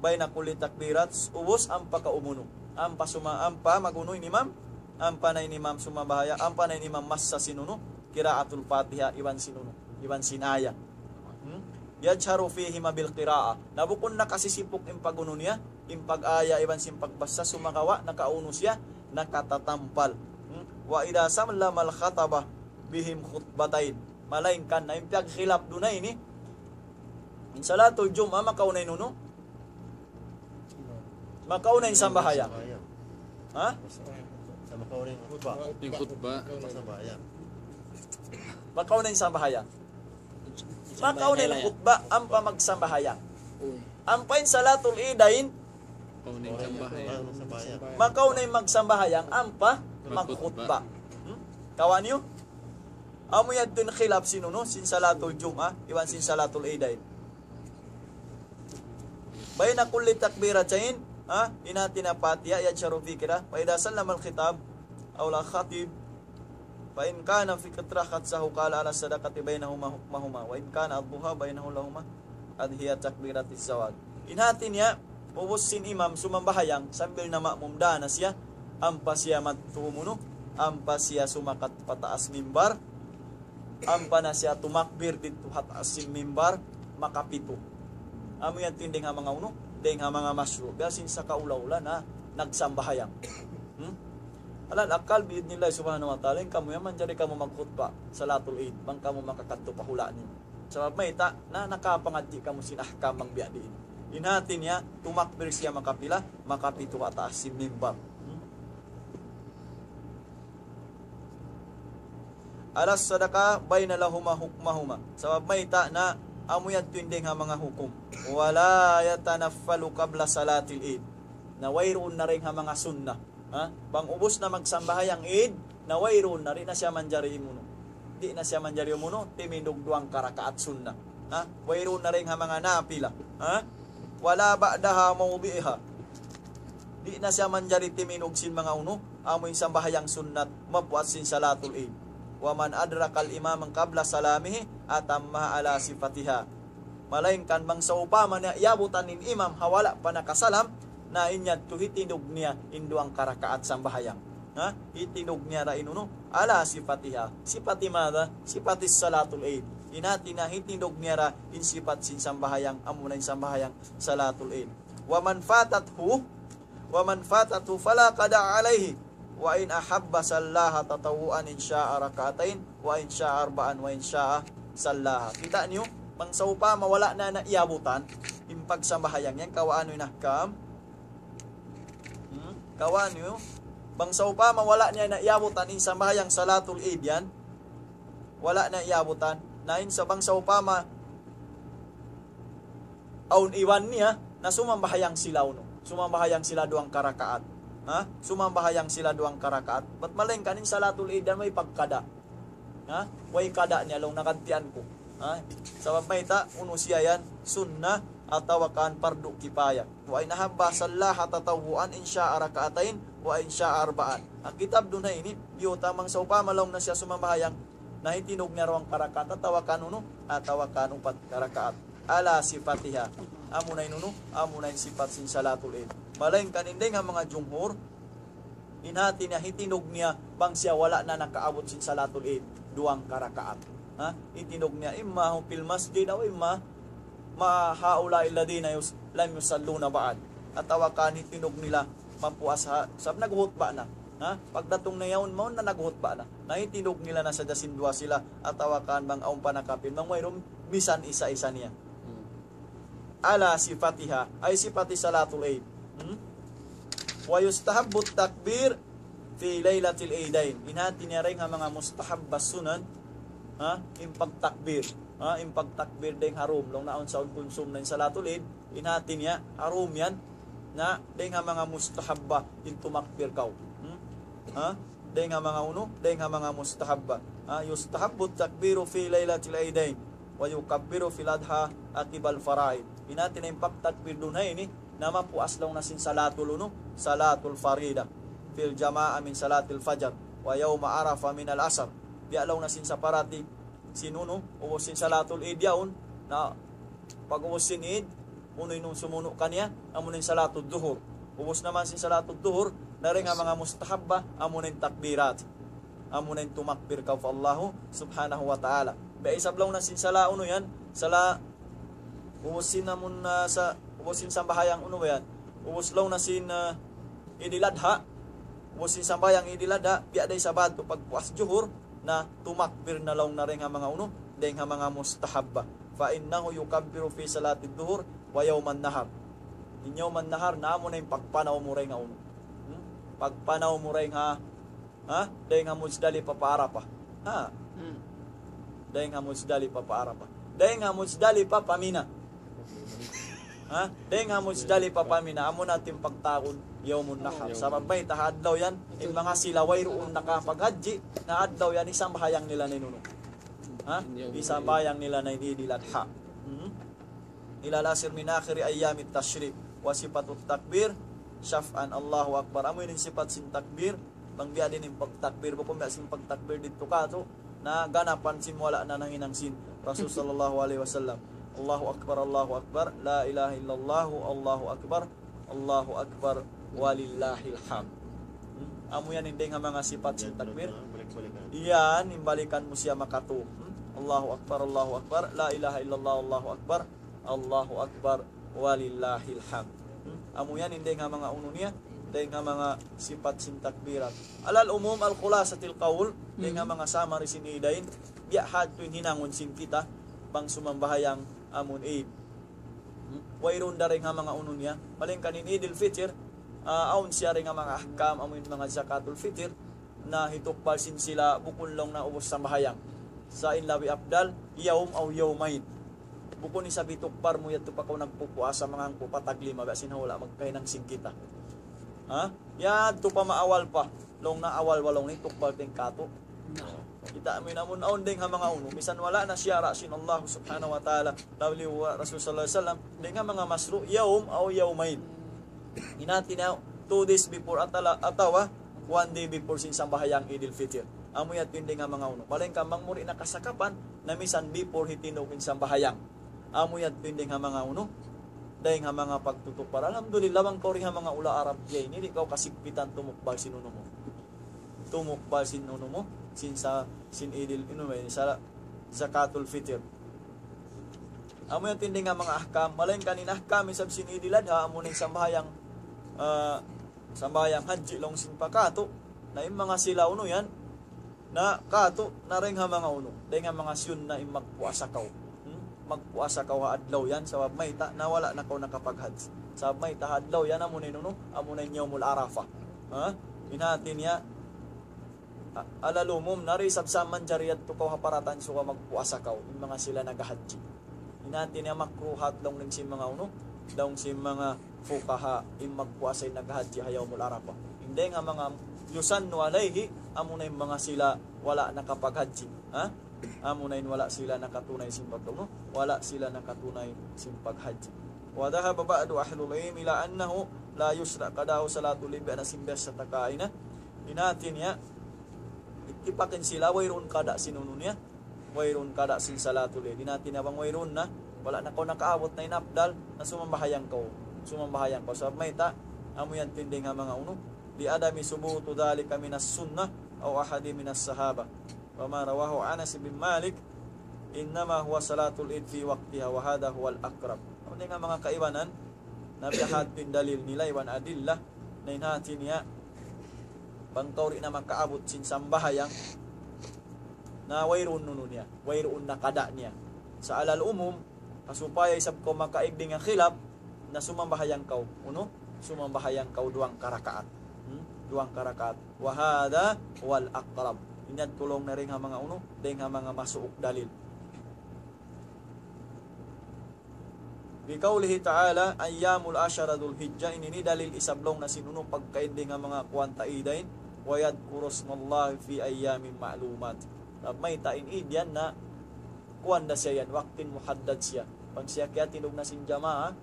bayna kulli takbirat, ubus ampa kaw umunu. Ampa suma-, ampa magunu in imam, ampa na in imam sumambahayang, ampa na in imam massa sin unu, qiraatul Fatiha, iban sin unu, iban sin ayat. Hmm? Yajharu fihima bil qiraah. Na bukun nakasisipuk in pagunu niya, in pag-aya iban sin pagbassa, sumagawa' nakaunu siya, nakatatampal. Hmm? Wa idha sallamal khataba bihim khutbatayn. Malayngkan na in piyagkhilaf duun na ini. In salatul Jum'ah, makauna in unu? Makauna in sambahayang. Ha? Sa makauna in khutbah. In khutbah. Sambahayang. Makauna in sambahayang. Makauna in khutbah, ampa magsambahayang. Uy. Ampa in salatul idayn, Makauna in sambahayang. Sambahayang. Makauna in magsambahayang, ampa magkhutbah. Hmm? Kawa' niyu? Amu yadtu in khilaf sin unu, sin salatul Jum'ah, iban sin salatul idayn. Bayna kulli takbiratayn, ha? In hati niya Fatiha, yajharu fil qiraah. Fa idha sallamal khatab, aw al khatib, fa in kana fi qiraah khatsahu qala ala sadaqati baynahuma hukmahuma. Wa in kana ad-duha baynahu lahuma adhiya takbiratil zawal. In hati niya, ubus sin imam sumambahayang, sambil na ma'mum da na siya, ampa siya madtu umunu, ampa siya sumakat pataas mimbar, ampa na siya tumakbir didtu ha taas sin mimbar, makapitu. Amu yan in dayng ha manga unu, dayng ha manga mashru'. Biya' sin sakaula-ula na nagsambahayang. Hmm? Alal akal, bi'idhnillah subhanahu wa ta'ala, in kamu yan manjari kamu magkhutbah, salatul Eid, bang kamu makakadtu pa hula' niyu. Sabab mayta', na nakapangadji' kamu sin ahkam bang biya' diin. In hati niya, tumakbir siya makapila, makapitu ha taas sin mimbar. Hmm? Ala sadaqa bayna lahuma hukmahuma. Sabab mayta' na amu yadtu in dayng ha manga hukum. Wala yatanaffalu qabla salatil Eid. Na wayruun na dayng ha manga sunnah. Ha? Bang ubus na magsambahayang Eid, na wayruun na, di' na siya manjari umunu. Di' na siya manjari umunu, timindug duwang karakaat sunnah. Ha? Wayruun na dayng ha manga nafila. Ha? Wala ba'daha mawdi'iha. Di' na siya manjari timindug sin manga unu, amu in sambahayang sunnat, mabuat sin salatul Eid. Wa man adrakal imama qabla salamihi atammaha ala sifatiha. Malayngkan bang sawpama niya iyabutan in imam ha wala' pa nakasalam, na in yadtu hitindug niya in duwang karakaat sambahayang. Ha? Hitindug niya ra in unu, ala sifatiha. Sifati madha? Sifatis salatul Eid. In hati niya hitindug niya ra in sipat sin sambahayang, amuna in sambahayang salatul Eid. Wa man fatathu, wa man fatathu fala qada alayhi. Wa in ahabba sallaha tatawwu'an in sha'a rak'atayn, wa in sha'a arba'an, wa in sha'a sallaha. Kita' niyu, bang sawpama wala' na, na iyabutan in pagsambahayang yan, kawaun niyu in ahkam. Hmm? Kawaun niyu, Bang sawpama wala' niya na iyabutan in sambahayang salatul Eid yan, wala' niya iyabutan. Na in sa bang sawpama awn iban niya, na sumambahayang sila unu. Sumambahayang sila duwang karakaat. Ha? Sumambahayang sila duwang karakaat. Bat malayngkan in salatul Eid yan way pagkada'. Ha? Way kada' niya laung nagantian ku. Ha? Sabab mayta', unu siya yan, sunnah atawa kan pardu kifaya. وإن أحب صلاها تطوعا إن شاء ركعتين وإن شاء أربعا. Ang kitab duun ha ini, biyutang bang sawpama laung na siya sumambahayang, na hitindug niya duwang karakaat, atawa kan unu, atawa kan upat karakaat. على صفتها. Amuna in unu, amuna in sipat sin salatul Eid. Malayngkan in dayng ha manga jumhur, in hati niya hitindug niya bang siya wala' na nakaabut sin salatul Eid, duwang karakaat. Ha? Hitindug niya imma في المسجد أو إما مع هؤلاء الذين يص-، لم يصلون بعد. Atawa kan hitindug nila mapuas ha, sabab naghutba na. Ha? Pagdatung na yaun, mawn na naghutba na. Na hitindug nila na sadja sin duwa sila, atawa kan bang awn pa nakapin, bang wayruun misan isa-isa niya. على صفتها، أي صفة صلاة العيد. Hmm? ويستحب التكبير في ليلة العيدين. In hati niya dayng ha manga mustahabba sunan, ha, in pagtakbir. Ha, in pagtakbir dayng ha dum, laung na awn sa kunsum na in salatul Eid, in hati niya, ha dum yan, na dayng ha manga mustahabba in tumakbir kaw. Hmm? Ha? Dayng ha manga unu, dayng ha manga mustahabba. Ha, يستحب التكبير في ليلة العيدين ويكبر في الأضحى عقب الفرائض. In hati niya in pagtakbir duun ha ini, na mapuas laung na sin salatul unu, salatul farida, في الجماعة من صلاة الفجر ويوم عرفة من العصر. Biya' laung na sin saparati sin unu, ubus sin salatul Eid yaun, na pag-ubus sin Eid, unu in sumunu' kaniya, amuna in salatul duhur. Ubus naman sin salatul duhur, na dayng ha manga mustahabba, amuna in takbirat. Amuna in tumakbir kaw pa Allahu subhanahu wa ta'ala. Biya' isab laung na sin sala unu yan, sala ubus sin amun, ah, sa, ubus sin sambahayang unu ba yan? Ubus laung na sin, ah, Idil Adha. Ubus sin sambahayang Idil Adha, biya' da isab tu pagpuas juhur, na tumakbir na laung na dayng ha manga unu, dayng ha manga mustahabba. فإنه يكبر في صلاة الظهر ويوم النحر. In yawm an-nahar, na amuna in pagpanaw mu dayng ha unu. Hmm? Pagpanaw mu dayng ha, ha? Dayng ha Muzdalifa pa Arafah. Ha? Hmm. Dayng ha Muzdalifa pa Arafah. Dayng ha Muzdalifa pa Mina. Ha? Dayng ha Muzdalifa pa Mina. Amuna in pagtawagun yawmun nahar. Sabab mayta', ha adlaw yan, in manga sila wayruun nakapaghajji, na adlaw yan, isambahayang nila na in unu. Ha? Isambahayang nila na in Idil Adha. Hmm? إلى العصر من آخر أيام التشريق. وصفة التكبير شفعا. Allahu Akbar. Amu ini in sipat sin takbir. Bang biya' diin in pagtakbir, bukun biya' sin pagtakbir didtu katu', na ganapan sin wala' na nanghinang sin Rasul sallallahu alayhi wasallam. الله أكبر، الله أكبر، لا إله إلا الله، الله أكبر، الله أكبر، ولله الحمد. Hmm? Amu yan in dayng ha manga sipat sin takbir. Yan, in balikan mu siya makatu. Hmm? الله أكبر، الله أكبر، لا إله إلا الله، الله أكبر، الله أكبر، ولله الحمد. Hmm? Amu yan in dayng ha manga unu niya, dayng ha manga sipat sin takbirat. على العموم، الخلاصة القول, dayng ha manga summary sin Idayn, biya' ha yadtu in hinangun sin kita, bang sumambahayang amun Eid. Hmm? Wayruun da dayng ha manga unu niya, malayngkan in Idil Fitr, ah, awn siya dayng ha manga ahkam, amu in manga zakatul fitr, na hitukbal sin sila bukun laung na ubus sambahayang. Sa' in labi afdal, yawm aw yawmayn. Bukun isab hitukbal mu yadtu pa kaw nagpupuasa manga hangpu' pa tag lima, biya' sin hula' magkahinang sin kita. Ha? Yadtu pa maawal pa. Laung na awal pa laung na hitukbal ta in katu'. Kita' mu in amun awn dayng ha manga unu. Misan wala' na siyara' sin Allah subhanahu wa ta'ala. Labi wa Rasul sallallahu alayhi wasallam. Dayng ha manga mashru', yawm aw yawmayn. In hati niya, two days before atala-, atawa one day before sin sambahayang Idil Fitr. Amu yadtu in dayng ha manga unu. Malayngkan bang mu di' na kasakapan, na misan before hitindug in sambahayang. Amu yadtu in dayng ha manga unu. Dayng ha manga pagtutukbal. Alhamdulillah, bang kaw di' ha manga hula' Arab diya ini, di' kaw kasigpitan tumukbal sin unu mu. Tumukbal sin unu mu, sin sa, sin Idil, unu mu, sa zakatul fitr. Amu yan in dayng ha manga ahkam, malayngkan in ahkam isab sin Idil Adha, amu na in sambahayang, ah, sambahayang hajji laung sin pa katu', na in manga sila unu yan, na katu', na dayng ha manga unu, dayng ha manga siyun na in magpuasa kaw. Hmm? Magpuasa kaw ha adlaw yan, sabab mayta', na wala' na kaw nakapaghajji. Sabab mayta', ha adlaw yan, amu na in unu, amu na in Yawmul Arafah. Ha? In hati niya, a-, ala lumum, nari sabsaman jari yadtu kaw ha paratan suga magpuasa kaw, in manga sila naghahajji. In hati niya makruhat laung dayn sin manga unu, laung sin manga fuqaha, in magpuasa in naghahajji ha Yawmul Arafah. In dayn ha manga yusannu alayhi, amuna in manga sila wala' nakapaghajji. Ha? Amuna in wala' sila nakatunay sin pag-, unu? Wala' sila nakatunay sin paghajji. وذهب بعض أهل العلم إلى أنه لا يشرع قضاء صلاة العيد, biya' na sin biya' sa ta kaina. In hati niya, ittipakin sila, wayruun kada sin unu niya, wayruun kada sin salatul Eid. In hati niya bang wayruun na, wala' na kaw nakaabut na in afdal, na sumambahayang kaw. Sumambahayang kaw. Sabab mayta', amu yan tinding ha manga unu. لعدم ثبوت ذلك من السنة أو أحد من الصحابة. وما رواه أنس بن مالك إنما هو صلاة العيد في وقتها وهذا هو الأقرب. Amu na in manga kaibanan, na biya' ha yan in dalil nila iban adillah, na in hati niya, bang kaw di' na makaabut sin sambahayang, na wayruun unu niya, wayruun na kada niya. Sa' alal umum, ha supaya isab kaw makaig dayn ha khilaf, na sumambahayang kaw, unu? Sumambahayang kaw duwang karakaat. Hmm? Duwang karakaat. وهذا هو الأقرب. In yan laung na dayn ha manga unu, dayn ha manga masuuk dalil. بقوله تعالى أيام العشر ذو الحجة, ini, ini dalil isab laung na sin unu pagkaig dayn ha manga kuwan ta idayn, ويذكر اسم الله في أيام معلومات. Sabab mayta' in id yan na kuwan da siya yan, waktu muhaddad siya. Bang siya kiyatindug na sin jamaa,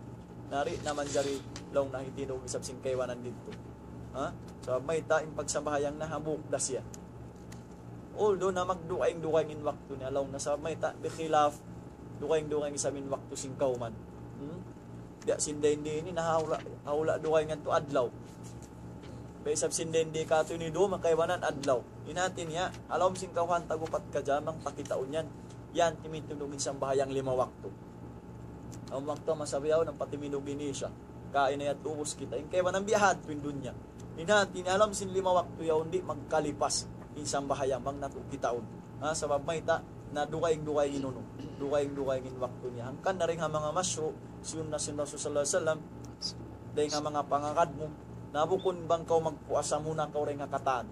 nari na manjari laung na hitindug isab sin kaibanan didtu. Ha? Sabab mayta' in pagsambahayang na hambuuk da siya. Although na magdugaing-dugaing in waktu niya, laung na sabab mayta', bikhilaf, dugaing-dugaing isab in waktu sin kawman. Hmm? Biya' sin dayn di ini, na ha hula', ha hula' dugaing yan tu adlaw. Biya' isab sin dayn di katu' ini duwa, makaibanan adlaw. In hati niya, ha lawm sin kawhaan tag-upat ka jam bang pakitaun yan. Yan, timindug in sambahayang lima waktu. Awn waktu masa bihaun, ampa timindug in isya. Kaina yadtu, ubus kita. In kaibanan biya' hadtu in dunya. In hati niya, ha lawm sin lima waktu yaun di' magkalipas in sambahayang bang natu' kitaun. Ha, sabab mayta', na dugaing-dugaing in unu. Dugaing-dugaing in waktu niya. Hangkan na dayn ha manga mashru', sunnah sin Rasul sallallahu alayhi wasallam, dayn ha manga pangagad mu, na bukun bang kaw magpuasa muna kaw dayn ha katan.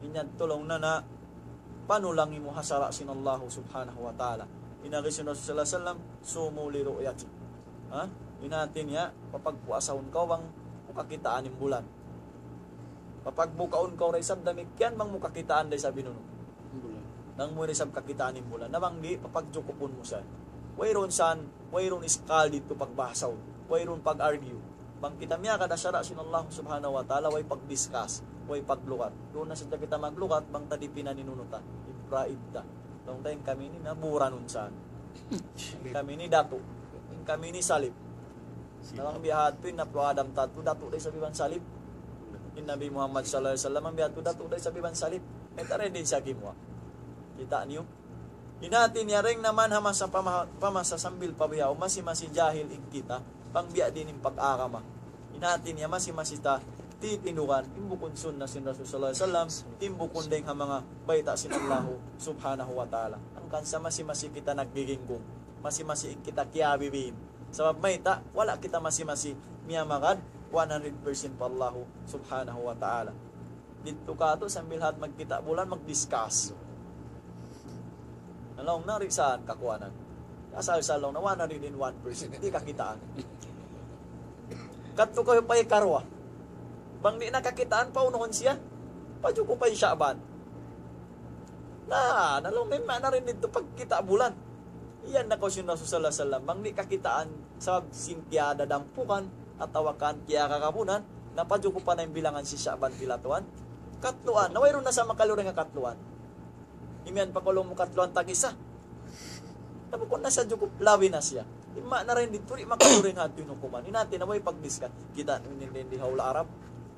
In yan laung na na panulangi mu ha sara' sin Allahu subhanahu wa ta'ala. In agi sin Rasul sallallahu alayhi wasallam, صوموا لرؤيته. Ha? In hati niya, papagpuasahun kaw bang mu kakitaan in bulan. Papagbukaun kaw da isab damikkiyan bang mu kakitaan da isab in unu. Bulan. Bang mu da isab kakitaan in bulan. Na bang di', papagjukupun mu sa. Wayruun san, wayruun iskal didtu pagbahasahun. Wayruun pag-argue. Bang kita miyagad ha sara' sin Allah subhanahu wa ta'ala, way pag-discuss, way paglugat. Duun na sadja kita maglugat, bang ta dipinan in unu ta, ipraid ta. Laung ta in kami ini naburan unsan. In kami ini datu'. In kami ini salib. Na bang biya' hadtu in Nabi Adam ta tu, datu' da isab iban salib. In Nabi Muhammad sallallahu alayhi wasallam, bang biya' hadtu datu' da isab iban salib. Mayta' da in di' siya gimuwa'. Kita' niyu? In hati niya dayn naman ha masa pama-, pa masa sambil pa bihaun, masi-masi jahil in kita, bang biya' diin in pag-agama. In hati niya masi-masi ta titindugan, in bukun sunnah sin Rasul sallallahu alayhi wasallam, in bukun dayn ha manga bayta' sin Allahu subhanahu wa ta'ala. Hangkan sa masi-masi kita naggiginggung, masi-masi in kita kiyabibiin. Sabab mayta', wala' kita masi-masi miyamagad one hundred percent pa Allahu subhanahu wa ta'ala. Didtu katu' sambil hat magkita' bulan, mag-discuss. Na laung na, di' saan kakuanan. Asal sa laung na, one hundred and one percent. Di' kakitaan. Kadtu kaw pa ikaruwa. Bang di' na kakitaan, paunuhun siya. Pajukupan Sha'ban. Na, na laung na, in maana dayn didtu pagkita' bulan. Iyan na kaw sin Rasul sallallahu alayhi wasallam. Bang di' kakitaan, sabab sin kiyadadampukan, atawa kan kiyakakabunan, na pajukupan na in bilangan sin Sha'ban pila tuwan. Katluan, na wayruun na sa makaluring ha katluan. Imiyan pa kaw laung mu katluan tag-isa. Na bukun na sa jukup, labi na siya. In maana dayn didtu di' makaluring ha tuud in hukuman. In hati na way pag-discuss. Kita' niyu in di ha hula' Arab.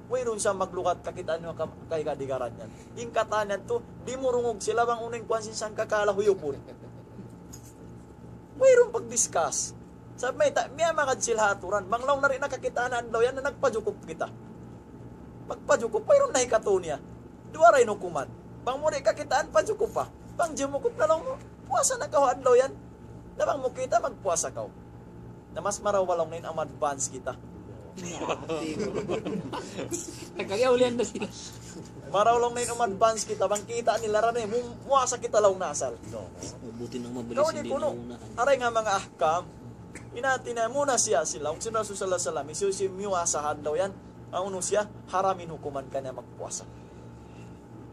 Wayruun sa maglugat, kakitaan niyu ka-, kahigad-higaran yan. In katan yadtu, dimurungug sila bang unu in kuwan sin sangkakala huyupun. Wayruun pag-discuss. Sabab mayta', miyamagad sila ha aturan. Bang laung na di' na kakitaan adlaw yan na nagpajukup kita. Magpajukup, wayruun na hikatu niya. Duwa ra in hukuman. Bang mu di' kakitaan, pajukupa. Bang jimukup na laung mu, puasa na kaw adlaw yan. Na bang mu kita', magpuasa kaw. Na mas marayaw laung na in advance kita. Nagkagaulian na sila. Maraw laung na in um-advance kita, bang kita' nila ra na, mu-, muasa kita laung na asal. Buti nang mabilis. Kaw di' di' kuno. Aray nga manga ahkam. In hati niya muna siya sila. Awn sin Rasul sallallahu alayhi wasallam, hisiyu-siyu miyuasa ha adlaw yan, awn siya, haram in hukuman kaniya magpuasa.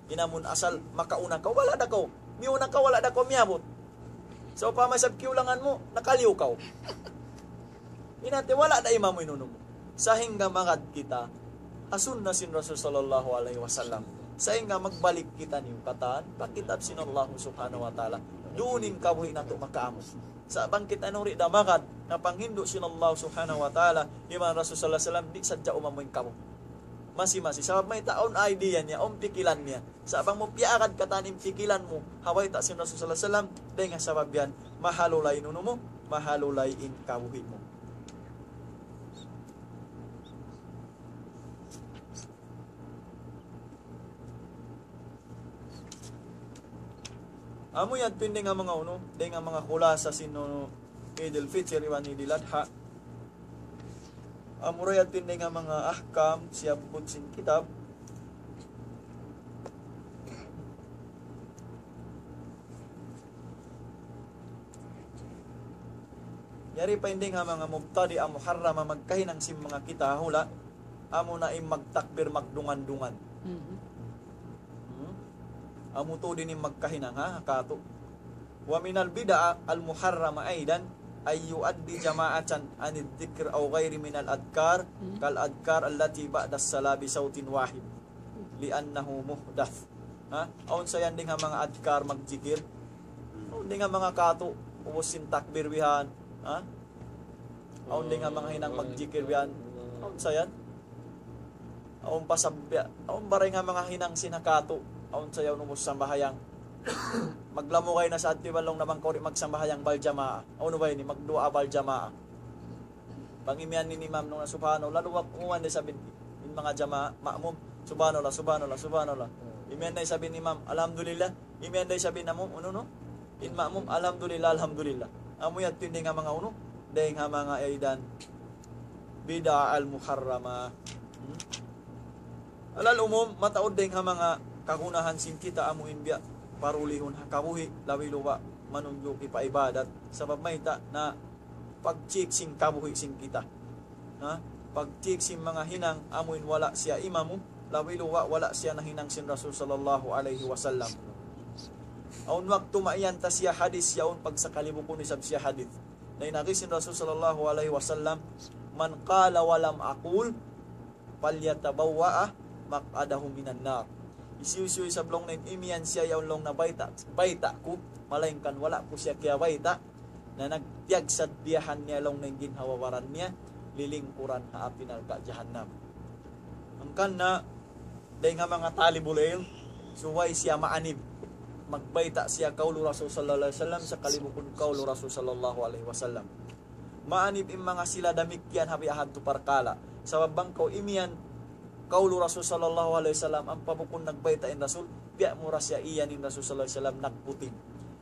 In amun asal, makauna kaw, wala' da kaw. Miyuna kaw, wala' da kaw miyabut. Sawpama isab kiyulangan mu, nakaliyu kaw. In hati, wala' da imamu in unu mu. Sahingga magad kita ha sunna sin Rasul sallallahu alayhi wasallam. Sahingga magbalik kitaniyu katan pa kitab sin Allah subhanahu wa ta'ala. Duun in kabuhi' natu' makaamu. Sa' bang kitaniyu di' da magad na panghindu' sin Allah subhanahu wa ta'ala, iban Rasul sallallahu alayhi wasallam, di' sadja umamu in kamu. Masi-masi. Sabab mayta', awn idea niya, awn pikilan niya. Sa' bang mu piyaagad katan in pikilan mu ha bayta' sin Rasul sallallahu alayhi wasallam, dayn ha sabab yan, mahalulay in unu mu, mahalulay in kabuhi' mu. Amu yan, dayn ha manga unu, dayn ha manga khulasa sin unu, Eid al-Fitr iban Eid al-Adha. Amura yadtu in dayn ha manga ahkam siyabbut sin kitab. Yari pa in dayn ha manga mubtadi'a muharrama magkahinang sin manga kita ha hula', amuna in magtakbir magdungan-dungan. Mhm. Hmm? Amu tuud in magkahinang, ha, ha katu'. ومن البدع المحرمة أيضا أن يؤدي جماعة عن الذكر أو غيره من الأذكار كالأذكار التي بعد الصلاة بصوت واحد لأنه محدث. Ha? Awn sa yan dayn ha manga adhkar magjikir. Awn dayn ha manga katu', ubus sin takbir bihan. Ha? Awn dayn ha manga hinang magjikir bihan. Awn sa yan. Awn pa sabya, awn baray nga manga hinang sin ha katu', awn sa yaun ubus sambahayang. Maglamugay na sa adtu iban laung na bang kaw di' magsambahayang bal jamaa. Awn ba ini, magduwaa bal jamaa. Bang imiyan in imam laung na subhanallah, luwag umuwan da isab in, in manga jamaa, ma'mum, subhanallah, subhanallah, subhanallah. Imiyan da isab in imam, alhamdulillah. Imiyan da isab in ma'mum, unu, unu? In ma'mum, alhamdulillah, alhamdulillah. Amu yadtu in dayn ha manga unu, dayn ha manga aidan bid'a al-muharrama. Hmm? Alal umum, mataud dayn ha manga kagunahan sin kita amu in biya' parulihun ha kabuhi', labi luba' manunjuki pa ibadat. Sabab mayta' na pag-check sin kabuhi' sin kita. Ha? Pag-check sin manga hinang amu in wala' siya imamu, labi luba' wala' siya nahinang sin Rasul sallallahu alayhi wasallam. Awn waktu mayan ta siya hadith, yaun pagsakali bukun isab siya hadith. Na in agi sin Rasul sallallahu alayhi wasallam, من قال ولم أقل فليتبوأ مقعده من النار. Hisiyu-siyu isab laung na in imiyan siya yaun laung na bayta', bayta' ku, malaingkan wala' ku siya kiyabayta', na nagtiyagsadiyahan niya laung na in ginhawa-baran niya, lilingkuran ha api narka' jahannam. Hangkan na, dayn ha manga talibul ilm, subay siya maanib. Magbayta' siya kaulu Rasul sallallahu alayhi wasallam, sakali bukun kaulu Rasul sallallahu alayhi wasallam. Maanib in manga sila damikkiyan ha biya' hadtu parkala'. Sabab bang kaw imiyan, kaulu Rasul sallallahu alayhi wasallam, ampa bukun nagbayta' in Rasul, biya' mu ra siya iyan in Rasul sallallahu alayhi wasallam nagputing.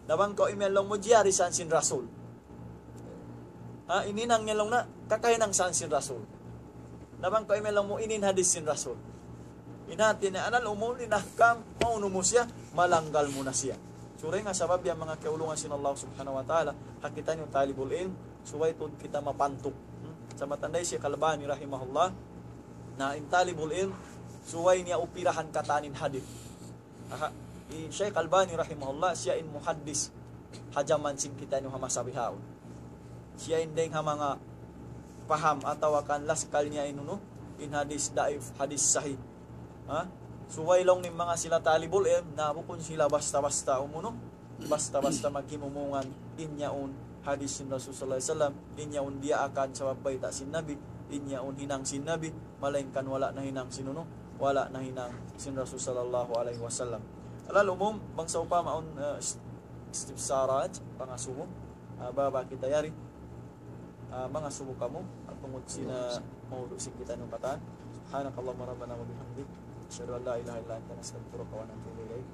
Na bang kaw imiyan laung mu jari san sin Rasul. Ha, in hinang niya laung na, kakahinang san sin Rasul. Na bang kaw imiyan laung mu ini in hadith sin Rasul. In hati niya, anal umum in ahkam, maunu mu siya, malanggal mu na siya. Suray nga sabab yan manga kiyaulungan sin Allah subhanahu wa ta'ala, ha kitaniyu talibul ilm, subay tuud kita mapantuk. Hmm? Sa' matanda hi Shaykh Albani rahimahullah, na in talibul ilm, subay niya upirahan katan in hadith. Aha, hi Shaykh Albani rahimahullah, siya in muhaddis ha jaman sin kitaniyu ha masa bihaun. Siya in dayn ha manga paham atawa kan laskal niya in unu, in hadith daif, hadith sahih. Ha? Subay laung niya in manga sila talibul ilm, na bukun sila basta-basta umunu, basta-basta maghimumungan in yaun hadith sin Rasul sallallahu alayhi wasallam, in yaun diyaakan sabab bayta' sin Nabi, in yaun hinang sin Nabi, malaingkan wala' nahinang sin unu, wala' nahinang sin Rasul sallallahu alayhi wasallam. Alal umum, bang sawpama awn, uh, ist-, istifsarat, pangasubu, uh, baba kita yari, uh, mangasubu kamu, tungud sin, uh, maudu' sin kitaniyu katan. سبحانك اللهم ربنا وبحمدك، أشهد أن لا إله إلا أنت، نستغفرك ونتوب إليك.